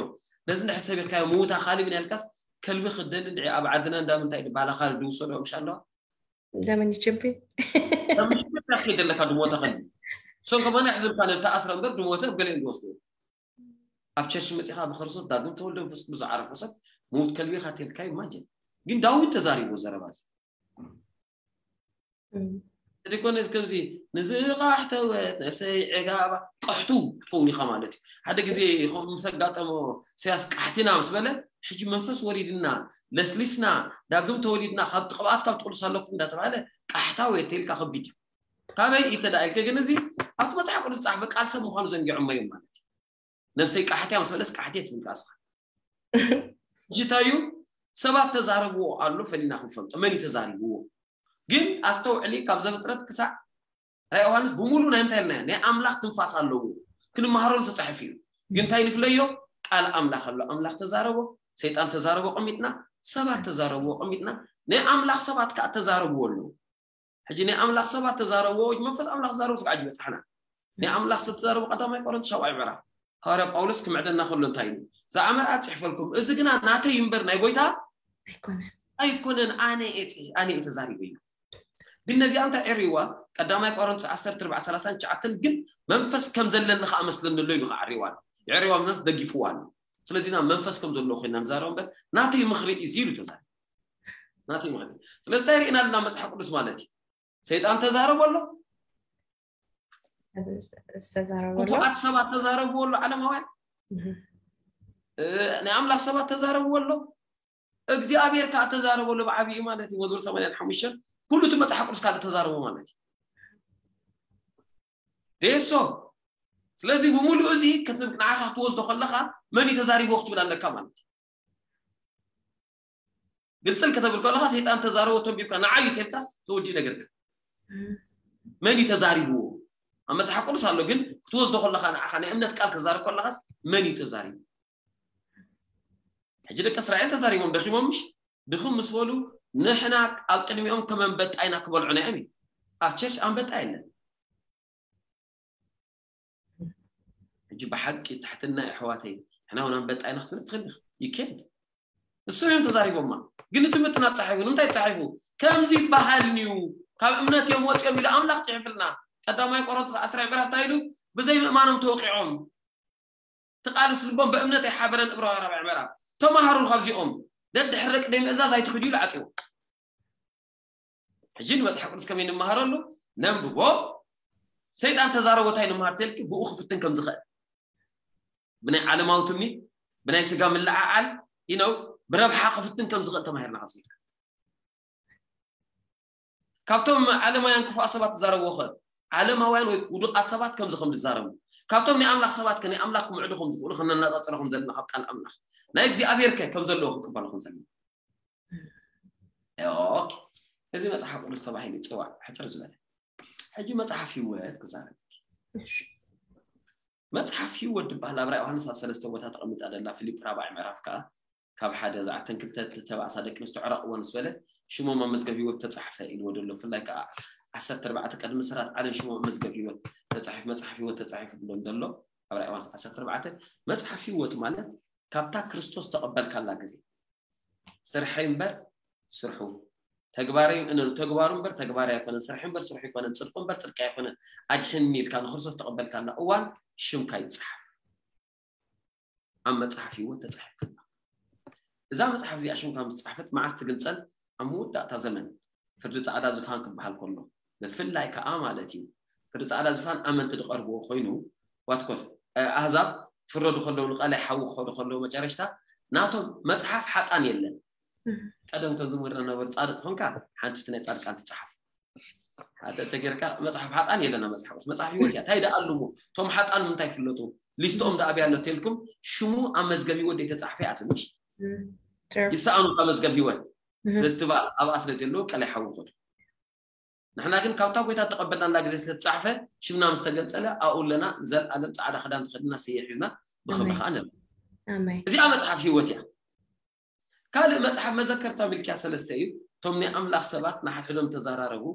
ነዚ እንድሕር ሰቢርካዮ ምውታ ካልቢ ናልካስ ከልቢ ክደሊ እንድዒ ኣብ ዓድና እንዳ ምንታይ ድባላ ካልቢ ድውሰዶ ምሽ ኣለዋ ደመኒ ችቢ ከምሽካ ከይድ ኣለካ ድሞተ ከልቢ እሶም ከማና ሕዝብካ ነብታ ኣስረ እምበር ድሞተ ገለ እንድወስዶ ኣብ ቸርች መፂኻ ብክርስቶስ ዳግም ተወልደ መንፈስ ቅዱስ ዝዓረፈ ሰብ ምውት ከልቢ ኢኻ ተልካ ኢማጅን ግን ዳዊት ተዛሪቡ ዘረባ እዚ እንተደይኮነስ ከምዚ ንዝቃሕተወት ነብሰይ ዕጋባ ቀሕቱ ትኸውን ኢኻ ማለት እዩ። ሓደ ግዜ ከምኡ ምስ ኣጋጠሞ ኢሳያስ ቃሕቲና ምስ በለ፣ ሕጂ መንፈስ ወሪድና ለስሊስና ዳግም ተወሊድና ካብ ቅብኣት ካብ ትቅዱስ ኣለኩም እንዳተባሃለ ቃሕታ ወይ ተልካ ከቢድ እዩ። ካበይ እዩ ተዳኢልከ ግን እዚ ኣብቲ መጽሓፍ ቅዱስ ዝጸሓፈ ቃል ሰብ ምዃኑ ዘንጊዖሞ እዮም ማለት እዩ። ነብሰይ ቃሕትያ ምስ በለስ ቃሕትየ ትብል ራስኻ። ሕጂ እንታይ እዩ ሰባት ተዛረብዎ ኣሎ ፈሊና ክንፈልጦ መን እዩ ተዛሪብዎ። ግን ኣስተውዕሊ ካብ ዘፍጥረት ክሳዕ ራእይ ዮሃንስ ብምሉእ ናይ እንታይ ኢልና ናይ ኣምላኽ ትንፋስ ኣለዎ። ክንመሃረሉ ተጻሒፉ እዩ። ግን እንታይ ንፍለዮ? ቃል ኣምላኽ ኣሎ። ኣምላኽ ተዛረቦ፣ ሰይጣን ተዛረቦ ቀሚጥና፣ ሰባት ተዛረብዎ ቀሚጥና፣ ናይ ኣምላኽ ሰባት ከዓ ተዛረብዎ ኣለዉ። ሕጂ ናይ ኣምላኽ ሰባት ተዛረብዎ መንፈስ ኣምላኽ ተዛረቡ ስጋዕ ይበጽሓና። ናይ ኣምላኽ ሰብ ተዛረቡ ቀዳማይ ቆሮንቶስ ሻብዓይ ምዕራፍ ሃዋርያ ጳውሎስ ክምዕደና ከሎ እንታይ እዩ? ዝኣመርኣ ጽሕፈልኩም፣ እዚ ግና ናተይ እምበር ናይ ጎይታ ኣይኮነን። ኣይኮነን፣ ኣነ እየ ጽ- ኣነ እየ ተዛሪበ እዩ። ግን ነዚኣ እንታይ ዕሪዋ? ቀዳማይ ቆሮንቶስ ዓሰርተ ኣርባዕተ ሰላሳ ትሽዓተ ግን መንፈስ ከም ዘለኒ ከኣ መስለኒ ኣሎ ኢሉ ከዓሪዋ ኣሎ። የዕሪዋ መንፈስ ደጊፍዋ ኣሎ። ስለዚ ና መንፈስ ከም ዘለዎ ኮይና ንዛረብ እምበር ናተይ ምኽሪ እዩ ኢሉ ተዛሪቡ። ናተይ ምኽሪ። ስለዚ እንታይ ርኢና ኣለና መጽሓፍ ቅዱስ ማለት እዩ? ሰይጣን ተዛረቦ ኣሎ፣ ዝተዛረበ ኣሎ። ክፉኣት ሰባት ተዛረብዎ ኣሎ፣ ዓለማውያን እህ። እ፣ ናይ ኣምላኽ ሰባት ተዛረብዎ ኣሎ፣ እግዚኣብሔር ከዓ ተዛረቦ ኣሎ ብዓብዩ ማለት እዩ። መዝሙር ሰማንያን ሓሙሽተን ኩሉ እቲ መጽሓፍ ቅዱስ ካልእ ተዛረቦ ማለት እዩ። ደሶ ስለዚ ብምሉእ እዚ ክትብ ንዓኻ ክትወስዶ ከለኻ መን እዩ ተዛሪቦ ክትብል ኣለካ ማለት እዩ። ግልፅል ከተብል ከለኻ ሰይጣን ተዛረቦ ተንቢብካ ንዓዩ ተልካስ ተወዲ ነገርካ። መን እዩ ተዛሪብዎ? ኣብ መጽሓፍ ቅዱስ ኣሎ፣ ግን ክትወስዶ ከለኻ ንዓኻ ናይ እምነት ቃል ክዛረብ ከለኻስ መን እዩ ተዛሪቡ? ሕጂ ደቂ እስራኤል ተዛሪቦም ደኺሞም ምሽ ድኽም ምስ በሉ ንሕና ኣብ ቅድሚኦም ከም ኣንበጣ ኢና ክበልዑና እዮም። ኣብ ቸርች ኣንበጣ የለን። ሕጂ ብሓቂ ትሕትና የሕዋተይ ንሕና እውን ኣንበጣ ኢና ክትብል ትኽእል ኢኻ። You can't። እሶም እዮም ተዛሪቦማ። ግን እቲ ምጥናት ጻሒፉ ንምንታይ ጻሒፉ? ከምዚ ይበሃል እዩ፣ ካብ እምነት እዮም ወፂኦም ኢሉ ኣምላኽ ጽሒፍልና። ቀዳማይ ቆሮንቶስ ዓስራ ምዕራፍ እንታይ ኢሉ? ብዘይ ምእማኖም ተወቂዖም ትቃልስ ልቦም ብእምነት ኣይሓበረን። እብራውያን ራብዕ ምዕራፍ ተማሃሩ ካብዚኦም ደድሕሪ ደቂ ደይ ምእዛዝ ኣይትኽዱ ኢሉ ዓፂዎ። ሕጂ ንመፅሓፍ ቅዱስ ከመይ ንምሃረሉ ነንብቦ። ሰይጣን ተዛረቦ እንታይ ንምሃር ተልኪ ብኡ ክፍትን ከም ዝኽእል ብናይ ዓለማዊ ትምኒት ብናይ ስጋ ምልዓዓል ኢነው ብረብሓ ክፍትን ከም ዝኽእል ተማሂርና ካብ ሰይጣን። ካብቶም ዓለማውያን ክፉኣ ሰባት ትዛረብዎ ኸ ዓለማውያን ወይ ውዱቃት ሰባት ከምዚ ከም ዝዛረቡ ካብቶም ናይ ኣምላኽ ሰባት ከ ናይ ኣምላኽ ክምዕዱ ከም ዝኽእሉ ከነነጻጽሮ ከም ዘለና ካብ ቃል ኣምላኽ ናይ እግዚኣብሔር ከ ከም ዘለዎ ክንቅበሎ ከም ዘለና ኦኬ። እዚ መጽሓፍ ቅዱስ ተባሂሉ ይጽዋዕ ሕጽር ዝበለ። ሕጂ መጽሓፍ ህይወት ክዛረብ መጽሓፍ ህይወት ዝበሃል ኣብ ራእይ ዮሃንስ ኣብ ሰለስተ ቦታ ተቐሚጣ ደላ ፊልፕ ራብዓይ ምዕራፍ ከዓ ካብ ሓደ ዝዓተን ክልተ ተባእሳ ደቂ ኣንስትዮ ዕረቕዎ ምስ በለ ሽሞም ኣብ መዝገብ ህይወት ተጻሕፈ ኢልዎ ደሎ። ብፍላይ ከዓ ዓሰርተ ኣርባዕተ ቅድሚ ስራት ዓለም ሽሞም ኣብ መዝገብ ህይወት ተጻሒፉ መጽሓፍ ህይወት ተጻሒፉ ብሎም ደሎ ኣብ ራእይ ዮሃንስ ዓሰርተ ኣርባዕተ መጽሓፍ ህይወት ማለት ካብታ ክርስቶስ ተቐበልካላ ግዜ ስርሐይ እምበር ስርሑ ተግባረይ እነ ተግባሩ እምበር ተግባረይ ኣይኮነን ስርሐይ እምበር ስርሑ ኣይኮነን ጽድቁ እምበር ጽድቂ ኣይኮነን ኣድሕኒ ኢልካ ንክርስቶስ ተቐበልካላ እዋን ሽምካ ይጽሓፍ ኣብ መጽሓፍ ህይወት ተጻሒፍካ እዛ መጽሓፍ እዚኣ ሽምካ ምስ ጻሕፈት መዓስ ትግንጸል ኣብ መወዳእታ ዘመን ፍርዲ ጻዕዳ ዝፋን ክበሃል ከሎ ብፍላይ ከዓ ማለት እዩ ፍርዲ ጻዕዳ ዝፋን ኣመንቲ ዝቐርብዎ ኮይኑ ዋትኮል ኣህዛብ ክፍረዱ ከለዉ ንቃላይ ሓዊ ክኸዱ ከለዉ መጨረሽታ ናቶም መጽሓፍ ሓጣን የለን ቀደም ከም ዝምህርና ነበሩ ጻድቅ ኾንካ ሓንቲ ናይ ጻድቃን ትጽሓፍ ሓደ ተጌርካ መጽሓፍ ሓጣን የለና መጽሓፍ መጽሓፍ ህይወት እያ እንታይ ደኣሉሞ እቶም ሓጣን ምንታይ ፍለጡ ሊስትኦም ደኣብያ ኣሎ ተልኩም ሽሙ ኣብ መዝገብ ህይወት ዘይተጻሕፈ እያ ትንሽ ይሰኣኑ ካብ መዝገብ ህይወት ስለዚ ትባል ኣብኣ ስለ ዘለዉ ቀላይ ሓዊ ኾዱ ንሕና ግን ካብታ ጎይታ ተቐበልናላ ግዜ ስለ ተጻሕፈ ሽምና ምስ ተገንጸለ ኣብኡ ኣለና ንዘለኣለም ጻዕዳ ክዳን ተኸድና ስየ ሒዝና ብኽብሪ ከዓ ንርኢ እዚኣ መጽሓፍ ህይወት እያ ካልእ መጽሓፍ መዘከርታ ሚልክያ ሰለስተ እዩ እቶም ናይ ኣምላኽ ሰባት ንሓድሕዶም ተዘራረቡ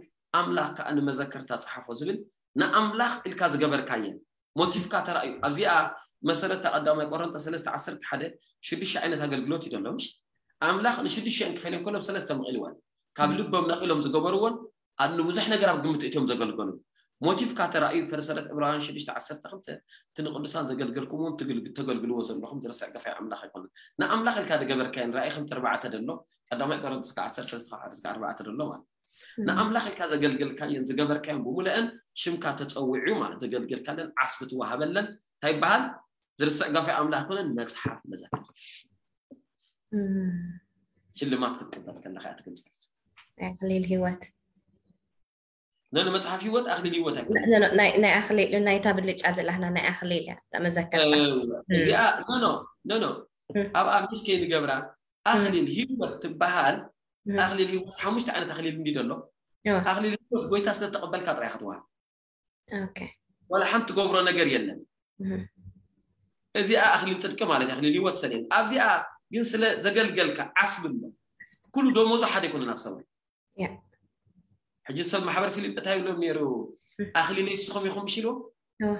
ኣምላኽ ከዓ ንመዘከርታ ጸሓፎ ዝብል ንኣምላኽ ኢልካ ዝገበርካየን ሞቲፍካ ተራእዩ ኣብዚኣ መሰረታ ቀዳማይ ቆሮንቶስ ሰለስተ ዓሰርተ ሓደ ሽዱሽተ ዓይነት ኣገልግሎት እዩ ዘሎ ምሽ ኣምላኽ ንሽዱሽተ እንክፈልዮም ከሎም ሰለስተ መቒልወን ካብ ልቦም ነቒሎም ዝገበርዎን ኣብ ንብዙሕ ነገር ኣብ ግምት እትዮም ዘገልገሉ ሞቲፍካ ተራእዩ ፈርሰረት ዕብራውያን ሽዱሽተ ዓሰርተ ክልተ እቲ ንቅዱሳን ዘገልገልኩምዎም ተገልግልዎ ዘለኹም ዝርስዕ ገፋይ ኣምላኽ ኣይኮነን ንኣምላኽ ኢልካ ዝገበርካየን ራእይ ከም ተርባዕተ ደሎ ቀዳማይ ቆሮንቶስ ዓሰርተ ሰለስተ ካብ ሓደ እስከ ኣርባዕተ ደሎ ማለት ንኣምላኽ ኢልካ ዘገልገልካየን ዝገበርካየን ብምልአን ሽምካ ተጸዊዑ ማለት ዘገልገልካለን ዓስቢ ትወሃበለን እንታይ ይበሃል? ዝርስዕ ገፋይ ኣምላኽ ኣይኮነን፣ መጽሓፍ መዘክር። እም፣ ሽልማት ክትቅበል ከለኻ እያ ትግንጸል። ናይ ኣኽሊል ህይወት። ነን መጽሓፍ ህይወት ኣኽሊል ህይወት ኣይኮነን። ነ- ነ- ናይ ናይ ኣኽሊል ናይታ ብልጫ ዘላህና ናይ ኣኽሊል እያ እታ መዘከርታ። እዚኣ ኖ ኖ ኖ ኖ እም። ኣብ ኣብ ሂስ ከይንገብራ ኣኽሊል ህይወት ትበሃል። እም። ኣኽሊል ህይወት ሓሙሽተ ዓይነት ኣኽሊል እንዲ ደሎ እዋ። ኣኽሊል ህይወት ጎይታ ስለተቐበልካ ጥራይ ክትወሃብ ኦኬ። ዋላ ሓንቲ ትገብሮ ነገር የለን። እም። እዚኣ ኣኽሊል ጽድቂ ማለት ኣኽሊል ህይወት ሰሌን ኣብዚኣ ግን ስለ ዘገልገልካ ዓስቢ ኣሎ። ኩሉ ደሞዙ ሓደ ይኮነ ናብ ሰማይ። ያ። ሕጂ ሰብ ማሕበር ፊልጵ እንታይ ይብሎም ነይሩ? ኣኽሊል ንስኹም ኢኹም ምሽ ኢልዎም። እዋ።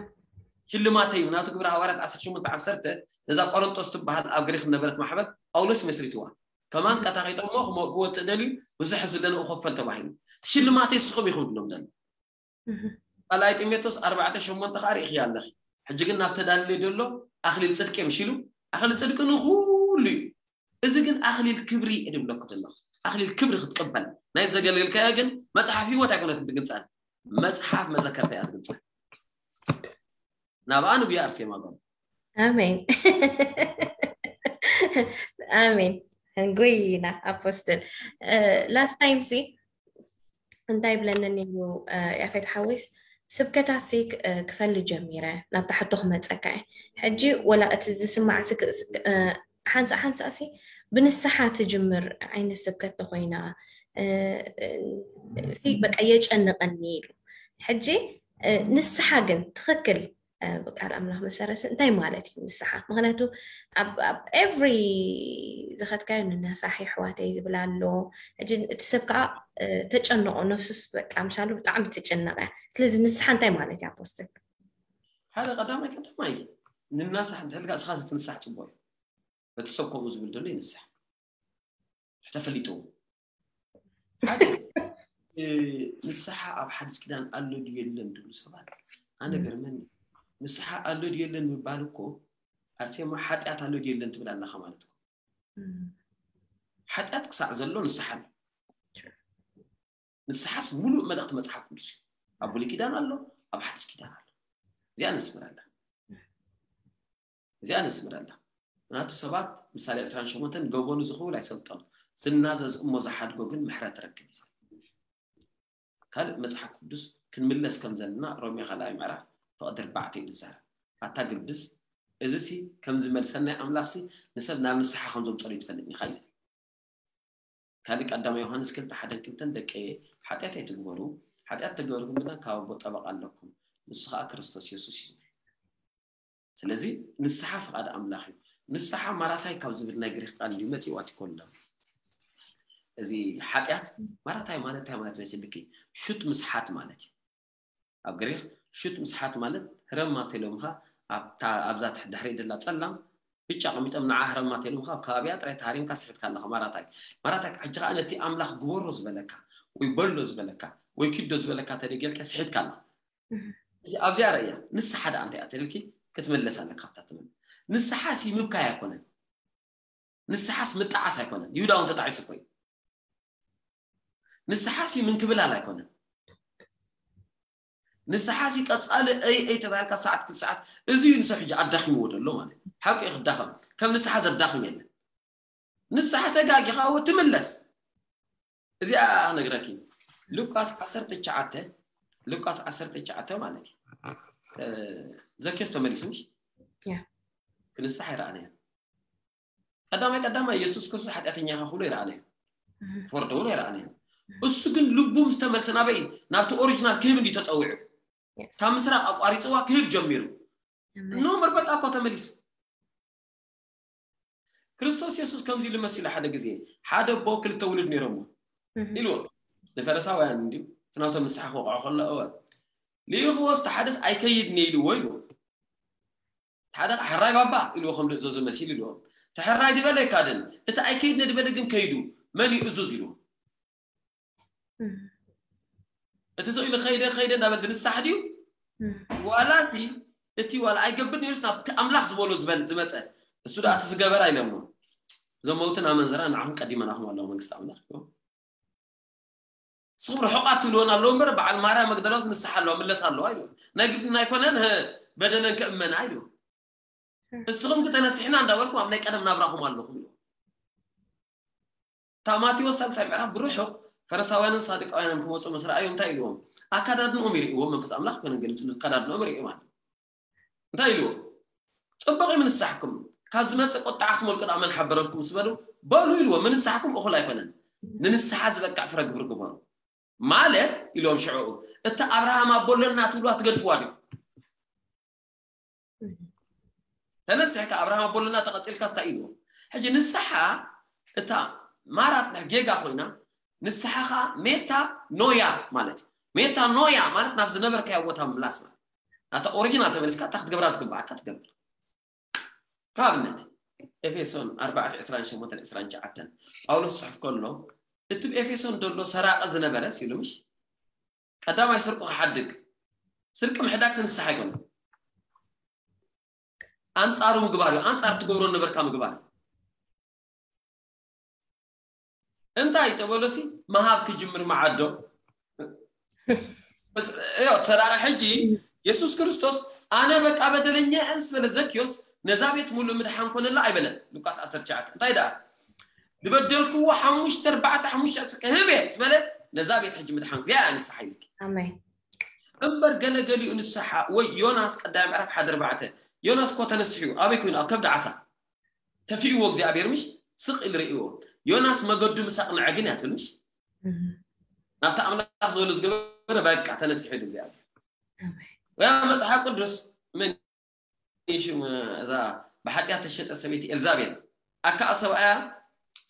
ሽልማተይ እዩ ናቱ ግብረ ሃዋርያት ዓሰርተ ሸሞንተ ዓሰርተ። ነዛ ቆሮንጦስ ትበሃል ኣብ ግሪክ ነበረት ማሕበር ጳውሎስ መስሪትዋ። ከማን ቀታኺጦሞ ክወፅእ ደልዩ ብዙሕ ህዝቢ ለንኡ ከፈል ተባሂሉ። ሽልማተይ ንስኹም ኢኹም ድሎም ደሎ። እም። ካልኣይ ጢሞቴዎስ ኣርባዕተ ሸሞንተ ከዓ ርኢኽያ ኣለኺ። ሕጂ ግን ናብ ተዳልለ ደሎ ኣኽሊል ጽድቂ ምሽ ኢሉ። ኣኽሊል ጽድቂ ንኹሉ እዩ። እዚ ግን ኣኽሊል ክብሪ እድብለኩ ዘለኹ ኣኽሊል ክብሪ ክትቅበል ናይ ዘገልገልካዮ ግን መጽሓፍ ህይወት ኣይኮነትን ትግንጻል። መጽሓፍ መዘከርታ እያ ትግንጻል። ናብኣ ንጉያ ኣርሴማ ጎ ኣሜን። ኣሜን። ጎይና ኣፖስትል። ላስት ታይም ሲ እንታይ ብለኒ ነይሩ? ያፌት ሓወይስ ስብከታት ሲ ክፈሊ ጀሚረ ናብታ ሕቶ ክመፀካ እየ። ሕጂ ወላ እቲ ዝስማዕ ሓንሳ ሓንሳ ሲ ብንስሓ ትጅምር ዓይነት ስብከት ተኮይና ሲ በቃ የጨንቀኒ ኢሉ። ሕጂ ንስሓ ግን ትኽክል ቃል ኣምላኽ መሰረት እንታይ ማለት እዩ ንስሓ? ምክንያቱ ኣብ ኤቭሪ ዝኸድካዮ ንነሳሕ የሕዋተይ ዝብል ኣሎ። ሕጂ እቲ ሰብ ከዓ ተጨነቆ፣ ነፍሱስ በቃ ምሻሉ ብጣዕሚ ትጭነቀ። ስለዚ ንስሓ እንታይ ማለት እዩ ኣፖስትል? ሓደ ቀዳማይ ቀዳማይ ንናሳሕ እንተልካ እስኻ ትንሳሕ ፅቡቅ እዩ። በቲ ሰብ ከምኡ ዝብል ዘሎ ይንሳሕ ተፈሊጡ ሓደ ንስሓ ኣብ ሓዲስ ኪዳን ኣሎ ድዩ የለን ድብሉ ሰባት ኣነ ገርመኒ። ንስሓ ኣሎ ድዩ የለን ምባል እኮ ኣርሴማ ሓጢኣት ኣሎ ድዩ የለን ትብል ኣለኻ ማለት እኮ። ሓጢኣት ክሳዕ ዘሎ ንስሓ ኣሎ። ንስሓስ ሙሉእ መልእኽቲ መፅሓፍ ቅዱስ እዩ። ኣብ ብሉይ ኪዳን ኣሎ፣ ኣብ ሓዲስ ኪዳን ኣሎ። እዚኣ ነስምረላ እዚኣ ነስምረላ ምክንያቱ ሰባት ምሳሌ ዕስራን ሸሞንተን ገበኑ ዝኽውል ኣይሰልጦን ዝናዘዝ እሞ ዝሓድጎ ግን ምሕረት ረክብ እዩ። ካልእ መጽሓፍ ቅዱስ ክንምለስ ከም ዘለና ሮሜ ካልኣይ ምዕራፍ ፍቕዲ ኣርባዕተ እዩ ዝዛረብ። ኣታ ግብዝ እዚ ሲ ከም ዝመልሰናይ ኣምላኽ ሲ ንሰብ ናብ ንስሓ ከም ዘምጸሉ ይትፈልጥ ኢኻ እዩ ዝብል። ካልእ ቀዳማይ ዮሃንስ ክልተ ሓደን ክልተን ደቂ ሓጢኣት ኣይትግበሩ ሓጢኣት ተገበርኩም ግና ካብ ኣቦ ጠበቃ ኣለኩም ንሱ ከዓ ክርስቶስ የሱስ እዩ ዝብል። ስለዚ ንስሓ ፍቓድ ኣምላኽ እዩ። ንስሓ ማራታይ ካብ ዝብል ናይ ግሪክ ቃል እዩ መፂኡ ኣቲኮሎ። እዚ ሓጢኣት ማራታይ ማለት እንታይ ማለት መሲልኪ? ሹት ምስሓት ማለት እዩ። ኣብ ግሪክ ሹት ምስሓት ማለት ህረማ ተሎምኻ ኣብዛ ድሕሪ ደላ ፀላም ብጫ ቀሚጦም ንዓ ህረማ ተሎምኻ ኣብ ከባቢያ ጥራይ ተሃሪምካ ስሒትካ ኣለኻ ማራታይ። ማራታይ ሕጂ ከዓ ነቲ ኣምላኽ ግበሮ ዝበለካ ወይ በሎ ዝበለካ ወይ ኪዶ ዝበለካ ተደገልካ ስሒትካ ኣለኻ። ኣብዚኣ ረእያ ንስሓ ደኣ እንታይ እያ ተልኪ ክትምለስ ኣለካ። ኣብታ ትብል ንስሓ ሲ ምብካይ ኣይኮነን። ንስሓስ ምጣዓስ ኣይኮነን። ይሁዳ እውን ተጣዒሱ እኮ እዩ። ንስሓ ሲ ምንክብላል ኣይኮነን። ንስሓ ሲ ቀጻሊ እይ እይ ተባሂልካ ሰዓት ክል ሰዓት እዚ እዩ ንሰብ ሕጂ ኣዳኺምዎ ዘሎ ማለት ሓቂ እዩ። ክዳኸም ከም ንስሓ ዘዳኽም የለን። ንስሓ ተጋጊኻ እወ ትምለስ። እዚኣ ክነግረኪ ሉቃስ ዓሰርተ ትሽዓተ ሉቃስ ዓሰርተ ትሽዓተ ማለት እዩ። ዘኬስ ተመሊሱ ምሽ ክንስሕ ኣይረኣናዮ። ቀዳማይ ቀዳማይ የሱስ ክርስቶስ ሓጢኣተኛ ኢኻ ክብሎ ይረኣናዮ። ክፈርዶ እውን ኣይረኣናዮ። እሱ ግን ልቡ ምስ ተመልሰ ናበይ ናብቲ ኦሪጂናል ክህብ እንዲ ተፀዊዑ ካብ ምስራቅ ኣቋሪፅዋ ክህብ ጀሚሩ። እኖ መርበጣ እኮ ተመሊሱ። ክርስቶስ የሱስ ከምዚ ኢሉ መሲሉ ሓደ ግዜ ሓደ ኣቦ ክልተ ውሉድ ነይሮምዎ ኢልዎ ንፈረሳውያን እንዲዩ እቲ ናቶም ንስሓ ክወቕዖ ከሎ እወ ልኢኽዎስ እቲ ሓደስ ኣይከይድን እየ ኢልዎ ኢልዎ። ሓደ ሕራይ ባባ ኢልዎ ከም ዝእዘዞ መሲሉ ኢልዎ። እቲ ሕራይ ዝበለ ኣይካደን እቲ ኣይከይድን እየ ዝበለ ግን ከይዱ መን እዩ እዙዝ ኢልዎ። እቲ ሰው ኢሉ ከይደ ከይደ እንዳበል ድንሳሕ ድዩ ዋላ ሲ እቲ ዋላ ኣይገብር ነይሩስ ናብቲ ኣምላኽ ዝበሎ ዝበል ዝመፀ እሱ ደኣ እቲ ዝገበር ኣይለምኖ። እዞም መውትን ኣመንዝራ ንዓኹም ቀዲመናኹም ኣለዎ መንግስቲ ኣምላኽ። ንስኹም ርሑቓት ትብልወን ኣለዉ እምበር፣ በዓል ማርያም መግደላዊት ንስሓ ኣለዋ፣ ምለሳ ኣለዋ ኢልዎ። ናይ ግድና ኣይኮነን፣ ህ፣ በደለን ከእመና ኢልዎ። ንስኹም ግን ተነሲሕና እንዳበልኩም ኣብ ናይ ቀደም ናብራኹም ኣለኹም ኢልዎ። እታ ማቴዎስ ሳልሳይ ምዕራፍ ብርሑቕ ፈሪሳውያንን ሳዱቃውያንን ክመጹ ምስ ረኣዩ እንታይ ኢልዎም? ኣካዳድንኦም ይርእይዎ፣ መንፈስ ኣምላኽ ኣይኮነን ገሊጹ፣ ኣካዳድንኦም ይርእዩ ማለት እዩ። እንታይ ኢልዎ? ጽቡቕ እዩ ምንስሓኩም፣ ካብ ዝመጽእ ቁጥዓ ክመልቁ ደኣ መን ሓበረልኩም ምስ በሉ፣ በሉ ኢልዎ፣ ምንስሓኩም እኹል ኣይኮነን፣ ንንስሓ ዝበቅዕ ፍረ ግብሪ ግበሩ። ማለት ኢልዎም ሽዕኡ፣ እታ ኣብርሃም ኣቦ ኣሎና ትብልዋ ትገድፍዋ ዲኹም? ተነሲሕካ ኣብርሃም ኣቦ ኣሎና ተቐጺልካ ስታይ ኢልዎም። ሕጂ ንስሓ እታ ማራት ናይ ጌጋ ኮይና፣ ንስሓ ኸኣ ሜታ ኖያ ማለት እዩ። ሜታ ኖያ ማለት ናብ ዝነበርካዮ ቦታ ምምላስ ማለት። ናታ ኦሪጂናል ተመሊስካ እታ ክትገብራ ዝግብኣካ ትገብር። ካብነት ኤፌሶን ኣርባዕተ ዕስራን ሸሞንተን ዕስራን ትሽዓተን ጳውሎስ ጽሑፍ ከሎ፣ እቲ ብኤፌሶን ዘሎ ሰራቂ ዝነበረስ ኢሉ ምሽ ቀዳማይ ስርቁ ክሓድግ፣ ስርቂ ምሕዳግ ንስሓ ኣይኮነን። ኣንጻሩ ምግባር እዩ። ኣንጻር ትገብሮ ነበርካ ምግባር እዩ። እንታይ ተበሎሲ መሃብ ክጅምር መዓዶ። እዮ ሰራቂ ሕጂ የሱስ ክርስቶስ ኣነ በቃ በደለኛ እየ ምስ በለ ዘኪዮስ ነዛ ቤት ሙሉእ ምድሓን ኮነላ ኣይበለን። ሉቃስ ዓሰርተ ትሽዓተ እንታይ ደኣ ዝበደልክዎ ሓሙሽተ ኣርባዕተ ሓሙሽተ ክህብ እየ ምስ በለ ነዛ ቤት ሕጂ ምድሓን እዚኣ እያ ንስሓ ኢልኪ። ኣሜን። እምበር ገለገሊኡ ንስሓ ወይ ዮናስ ቀዳማይ ምዕራፍ ሓደ ኣርባዕተ ዮናስ እኮ ተነሲሑ እዩ። ኣበይ ኮይኑ? ኣብ ከብዲ ዓሳ ተፊእዎ እግዚኣብሔር ምሽ ስቕ ኢሉ ርእይዎ። ዮናስ መገዱ ምስ ኣቕንዐ ግን እያ ትብል ምሽ ናብቲ ኣምላኽ ዝበሉ ዝገበረ በቃ ተነሲሑ ኢሉ እግዚኣብሔር። ኣሜን። ወይ ኣብ መጽሓፍ ቅዱስ ምን እዩ ሽም እዛ ብሓጢኣት ተሸጠ ሰበይቲ ኤልዛቤል ኣካ ሰብኣያ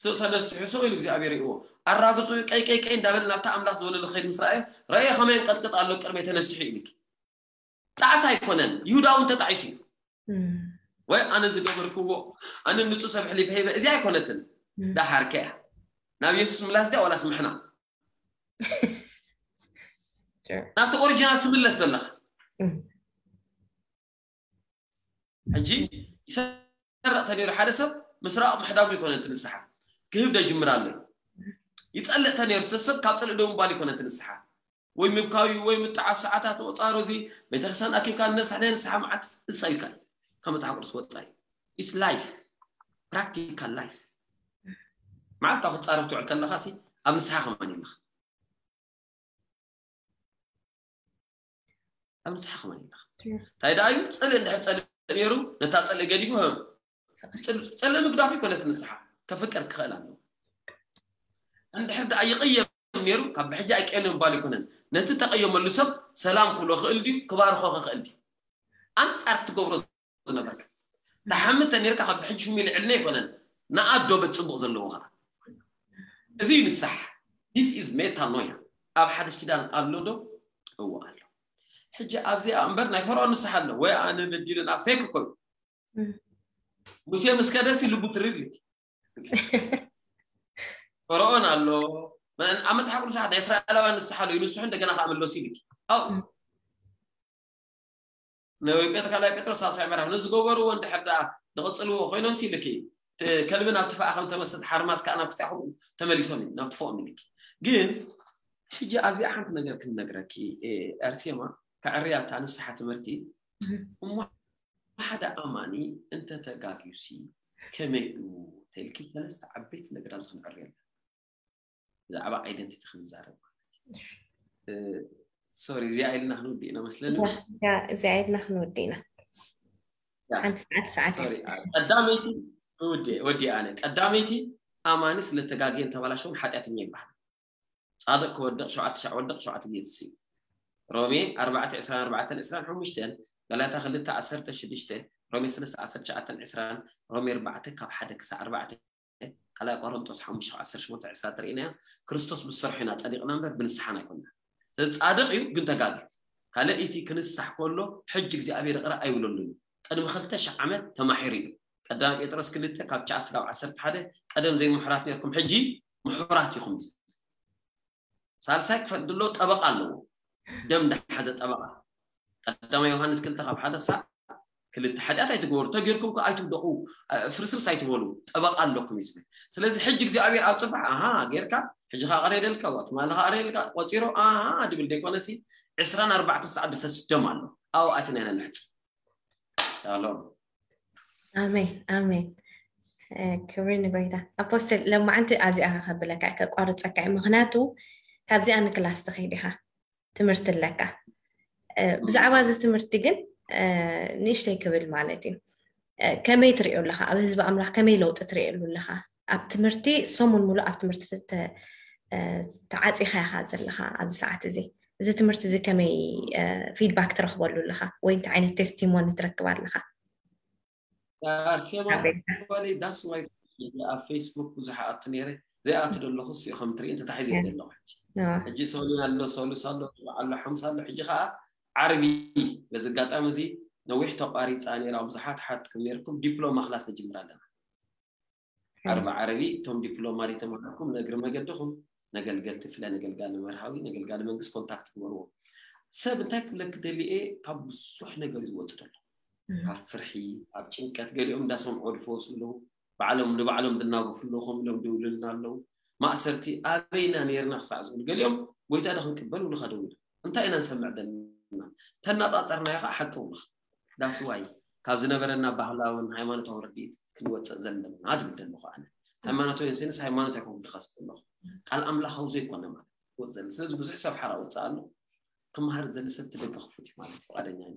ስቕ ተነሲሑ ስቕ ኢሉ እግዚኣብሔር ይእዎ ኣራግጹ ቀይ ቀይ ቀይ እንዳበለ ናብታ ኣምላኽ ዝበለሉ ኸይድ ምስ ረኣየ ረእየ ከመይ ቀጥቅጥ ኣሎ ቅድመይ ተነሲሑ ኢልኪ። ጣዕሳ ኣይኮነን። ይሁዳ እውን ተጣዒሱ እዩ። እም፣ ወይ ኣነ ዝገበርክዎ ኣነ ንጹህ ሰብ ሕሊፈ ሂበ እዚኣ ኣይኮነትን። እም፣ ዳሓርከ እያ ናብ የሱስ ምላስ ድያ ዋላስ ምሕና sure። ናብቲ ኦሪጂናል ስምለስ ዘለኻ እም፣ ሕጂ ይሰርቕ ተነይሩ ሓደ ሰብ ምስራቕ ምሕዳጉ ይኮነ እቲ ንስሓ ክህብ ደጅምር ኣሎ። ይጸልእ ተነይሩ እቲ ሰብ ካብ ጸልእ ደው ምባል ይኮነ እቲ ንስሓ ወይ ምብካዩ ወይ ምጥዓስ ሰዓታት ምቑጻሩ እዚ ቤተክርስትያን ኣኪብካ ንነስሕ ናይ ንስሓ መዓት እሳ ኢልካ ካብ መጽሓፍ ቅዱስ ወጻኢ it's life practical life መዓልታዊ ክትጻረፍ ትውዕል ተለኻ ሲ ኣብ ንስሓ ከማን የለኻ ኣብ ንስሓ ከማን የለኻ እንታይ ደኣ እዩ ጽልእ እንድሕር ጸልእ ነይሩ ነታ ጽልእ ገዲፉ ህ ጽል- ጽልእ ምግዳፍ ይኮነት ንስሓ ከፍቅር ክኽእል ኣለዎ እንድሕር ደኣ ይቕየም ነይሩ ካብ ብሕጂ ኣይቀየም ምባል ይኮነን ነቲ ተቐየመሉ ሰብ ሰላም ክብሎ ክእል ድዩ ክባርኾ ክእል ድዩ ኣንጻር ትገብሮ ዝነበርካ ተሓምተ ነርካ ካብ ብሕጂ ሽሙ ይልዕልና ኣይኮነን ንኣዶ በት ጽቡቕ ዘለዎ ኸዓ እዚ እዩ ንስሓ this is metanoia ኣብ ሓድሽ ኪዳን ኣሎ ዶ እዎ ኣሎ ሕጂ ኣብዚኣ እምበር ናይ ፈርዖን ንስሓ ኣሎ ወይ ኣነ በዲለ ናብ ፌክ እኮ እዩ እም፣ ሙሴ ምስ ከደሲ ልቡ ትርድ ፈርዖን ኣሎ ኣብ መፅሓፍ ቅዱስ ናይ እስራኤላውያን ንስሓ ኣሎ ይንስሑ እንደገና ከዓ መለሱ ይልኪ ኣው እም፣ ንወይጴጥሮ ካልኣይ ጴጥሮስ ሳልሳይ ምዕራፍ ንዝገበርዎ እንድሕር ደኣ ዝቕፅልዎ ኮይኖም ሲልኪ እቲ ከልቢ ናብ ትፋኣ ከም ተመሰጥ ሓርማዝ ከዓ ናብ ክስቲኣኹም ተመሊሶም እዩ ናብ ትፎኦም ኢልኪ ግን ሕጂ ኣብዚኣ ሓንቲ ነገር ክንነግረኪ ኤ፣ ኣርሴማ ከዕርያ እታ ንስሓ ትምህርቲ እሞ ሓደ ኣማኒ እንተተጋግዩሲ ከመይ እዩ ተልኪ ሰለስተ ዓበይቲ ነገር ኣብዚ ክንዕርየላ ብዛዕባ ኣይደንቲቲ ክንዛረብ ሶሪ እዚኣ ኢልና ክንውድእ ኢና መስለኒ እዚኣ ኢልና ክንውድእ ኢና ሓንቲ ሰዓት ሰዓት ቀዳመይቲ ወዲ ኣነ ቀዳመይቲ ኣማኒ ስለተጋግየን ተባላሸውን ሓጢኣተኛ ይበሃል ጻድቅ ክወድቕ ሸውዓተ ሻዕ ወድቕ ሸውዓተ ግዜ ትስዩ ሮሜ ኣርባዕተ ዕስራን ኣርባዕተን ዕስራን ሓሙሽተን ገላትያ ክልተ ዓሰርተ ሽዱሽተ ሮሜ ሰለስተ ዓሰርተ ትሽዓተን ዕስራን ሮሜ ኣርባዕተ ካብ ሓደ ክሳዕ ኣርባዕተ ካልኣይ ቆሮንጦስ ሓሙሽተ ዓሰርተ ሸሞንተ ዕስራ ተርእይናያ ክርስቶስ ብዝሰርሖ ኢና ጸዲቕና እምበር ብንስሓና ኣይኮንና ስለዚ ጻድቕ እዩ ግን ተጋግዩ ካልእ እቲ ክንሳሕ ከሎ ሕጂ እግዚኣብሔር ይቕረ ኣይብለሉን ቅድሚ ክልተ ሽሕ ዓመት ተማሒሩ እዩ ቀዳማይ ጴጥሮስ ክልተ ካብ ትሽዓተ ስጋብ ዓሰርተ ሓደ ቀደም ዘይምሑራት ነርኩም ሕጂ ምሑራት ኢኹም ሳልሳይ ክፈል ድሎ ጠበቃ ኣለዎ ደም እንዳሓዘ ጠበቃ ቀዳማይ ዮሃንስ ክልተ ካብ ሓደ ክሳብ ክልተ ሓጢኣት ኣይትግበሩ፣ ተጌርኩም ከ ኣይትውደቑ፣ ፍርስርስ ኣይትበሉ፣ ጠበቃ ኣለኩም እዩ ዝብል። ስለዚ ሕጂ እግዚኣብሔር ኣብ ጽባሕ ኣሃ ጌርካ፣ ሕጂ ከኣ ቀረየደልካ፣ ትማሊ ከኣ ቀረየደልካ፣ ቆጺሩ ኣሃ ድብል ደይኮነሲ ዕስራን ኣርባዕተ ሰዓት ድፈስ ደም ኣሎ። ኣብኡ ኣቲና ኢና ንሕጽብ። ሻሎም። ኣሜን ኣሜን። ክብሪ ንጎይታ። ኣፖስትል፣ ለማዓንቲ ኣብዚኣ ከብለካ ከቋርፀካ እዩ። ምክንያቱ ካብዚኣ ንክላስ ትኸይድ ኢኻ፣ ትምህርቲ ኣለካ። ብዛዕባ እዚ ትምህርቲ ግን ንእሽተይ ክብል ማለት እዩ። ከመይ ትሪኦ ኣለካ? ኣብ ህዝቢ ኣምላኽ ከመይ ለውጢ ትሪእሉ ኣለካ? ኣብ ትምህርቲ ሰሙን ሙሉእ ኣብ ትምህርቲ ተዓፂኻ ኢኻ ዘለካ ኣብዚ ሰዓት እዚ። እዚ ትምህርቲ እዚ ከመይ ፊድባክ ትረክበሉ ኣለካ ወይ እንታይ ዓይነት ቴስቲሞኒ ትረክብ ኣለካ? ኣርሴማ ጓለይ ዳስ ዋይ ኣብ ፌስቡክ ብዙሕ ኣቱ ነይረ ዘይኣቱ ዘለኹ ስ ከም ትርኢ እንተታሒዘ ዘለኹ ሕጂ ሶሉን ኣሎ ሶሉስ ኣሎ በዓሎ ሓሙስ ኣሎ ሕጂ ከዓ ዓርቢ በዚ ኣጋጣሚ እዚ ነዊሕ ተቋሪፃ ነይራ ብዙሓት ሓትኩም ነይርኩም ዲፕሎማ ክላስ ንጅምር ኣለና ዓርቢ ዓርቢ እቶም ዲፕሎማ ተማሃርኩም ነግሪ መገድኹም ነገልገልቲ ፍለ ነገልጋሊ መርሃዊ ነገልጋሊ መንግስት ኮንታክት ግበርዎ ሰብ እንታይ ክብለክ ደሊኤ ካብ ብዙሕ ነገር ዝወፅ ደሎ ካብ ፍርሒ ካብ ጭንቀት ገሊኦም እንዳሰምዖ ዝፈወሱ ኣለዉ ባዕሎም ንባዕሎም ዝናገፉ ኣለዉ ከም ኢሎም ደውልልና ኣለዉ ማእሰርቲ ኣበይና ነርና ክሳዕ ዝብል ገሊኦም ጎይታ ዶ ክንቅበል ውልካ ደውል እንታይ ኢና ንሰምዕ ዘለና ተናፃፀርናዮ ከዓ ሓቂ ውልካ ዳስዋይ ካብ ዝነበረና ባህላውን ሃይማኖታዊ ርድኢት ክንወፅእ ዘለና ድብል ደለኹ ኣነ ሃይማኖታዊ ሴንስ ሃይማኖት ኣይኮን ክድኸስ ዘለኹ ቃል ኣምላኻዊ ዘይኮነ ማለት ክወፅ ዘለ ስለዚ ብዙሕ ሰብ ሓራ ወፅእ ኣሎ ክመሃር ዘለ ሰብ ትደገ ክፉት እዩ ማለት ፍቃደኛ እዩ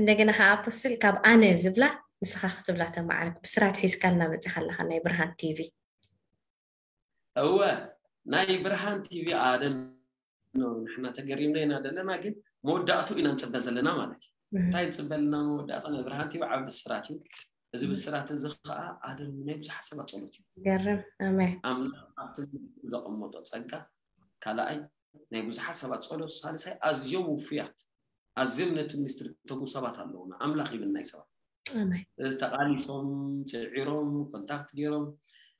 እንደገና ከዓ ኣፖስትል ካብ ኣነ ዝብላ ንስኻ ክትብላ ተማዓርክ ብስራት ሒዝካልና መፂኻ ኣለኻ ናይ ብርሃን ቲቪ እወ ናይ ብርሃን ቲቪ ኣደን ንሕና ተገሪምና ኢና ዘለና ግን መወዳእቱ ኢና ንፅበ ዘለና ማለት እዩ እንታይ ንፅበ ኣለና መወዳእታ ናይ ብርሃን ቲቪ ዓብ ብስራት እዩ እዚ ብስራት እዚ ከዓ ኣደን ናይ ብዙሓት ሰባት ፀሎት እዩ ገርም ኣሜን ኣምላኽ ኣብቲ ዘቐመጦ ፀጋ ካልኣይ ናይ ብዙሓት ሰባት ፀሎት ሳልሳይ ኣዝዮም ውፉያት ኣዝዮም ነቲ ሚኒስትሪ ተጉ ሰባት ኣለውና ኣምላኽ ይብል ናይ ሰባት ኣሜን እዚ ተቃሊሶም ፅዒሮም ኮንታክት ገይሮም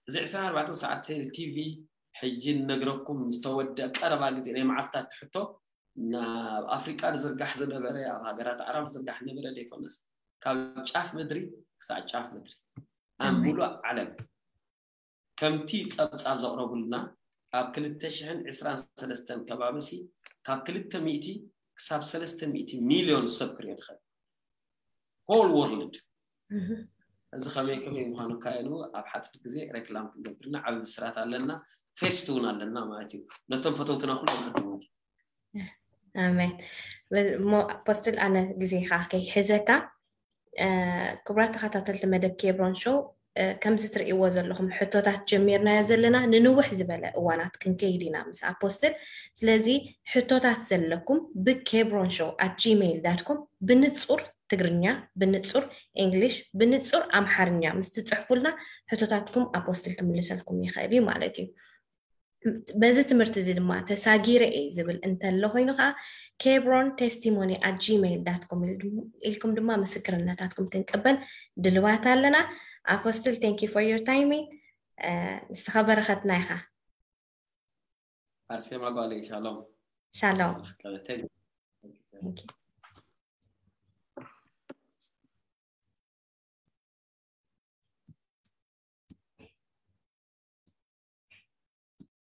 እዚ ዕስራን ኣርባዕተን ሰዓት ቴል ቲቪ ሕጂ ንነግረኩም ዝተወደ ቀረባ ግዜ ናይ መዓልታት ትሕቶ ናብ ኣፍሪቃ ዝርጋሕ ዝነበረ ኣብ ሃገራት ዓረብ ዝርጋሕ ነበረ ዘይኮነስ ካብ ጫፍ ምድሪ ክሳዕ ጫፍ ምድሪ ኣብ ሙሉእ ዓለም ከምቲ ጸብጻብ ዘቕረቡልና ኣብ ክልተ ሽሕን ዕስራን ሰለስተን ከባቢ ሲ ካብ ክልተ ሚእቲ ክሳብ ሰለስተ ሚእቲ ሚልዮን ሰብ ክሪኦ ትኽእል whole world እዚ ከመይ ከመይ ምዃኑ ካየኑ ኣብ ሓፂር ግዜ ሬክላም ክንገብርና ዓብዪ ብስራት ኣለና ፌስት እውን ኣለና ማለት እዩ ነቶም ፈተውትና ኩሎም ቅድማት ኣሜን ሞ ኣፖስትል ኣነ ግዜኻ ከይሕዘካ ክቡራት ተኸታተልቲ መደብ ኬብሮን ሾው ከምዚ ትርእይዎ ዘለኹም ሕቶታት ጀሚርናዮ ዘለና ንንውሕ ዝበለ እዋናት ክንከይድ ኢና ምስ ኣፖስትል ስለዚ ሕቶታት ዘለኩም ብኬብሮን ሾው ኣት ጂሜይል ዳት ኮም ብንጹር ትግርኛ ብንጹር እንግሊሽ ብንጹር ኣምሓርኛ ምስ ትጽሕፉልና ሕቶታትኩም ኣፖስትል ክምልሰልኩም ይኽእል እዩ ማለት እዩ በዚ ትምህርቲ እዚ ድማ ተሳጊረ እየ ዝብል እንተሎ ኮይኑ ከዓ ኬብሮን ቴስቲሞኒ ኣት ጂሜይል ዳት ኮም ኢልኩም ድማ ምስክርነታትኩም ክንቅበል ድልዋት ኣለና ኣፖስትል thank you for your time ንስኻ በረኸትና ኢኻ ኣርሴማ ጓለይ ሻሎም ሻሎም ቀበተይ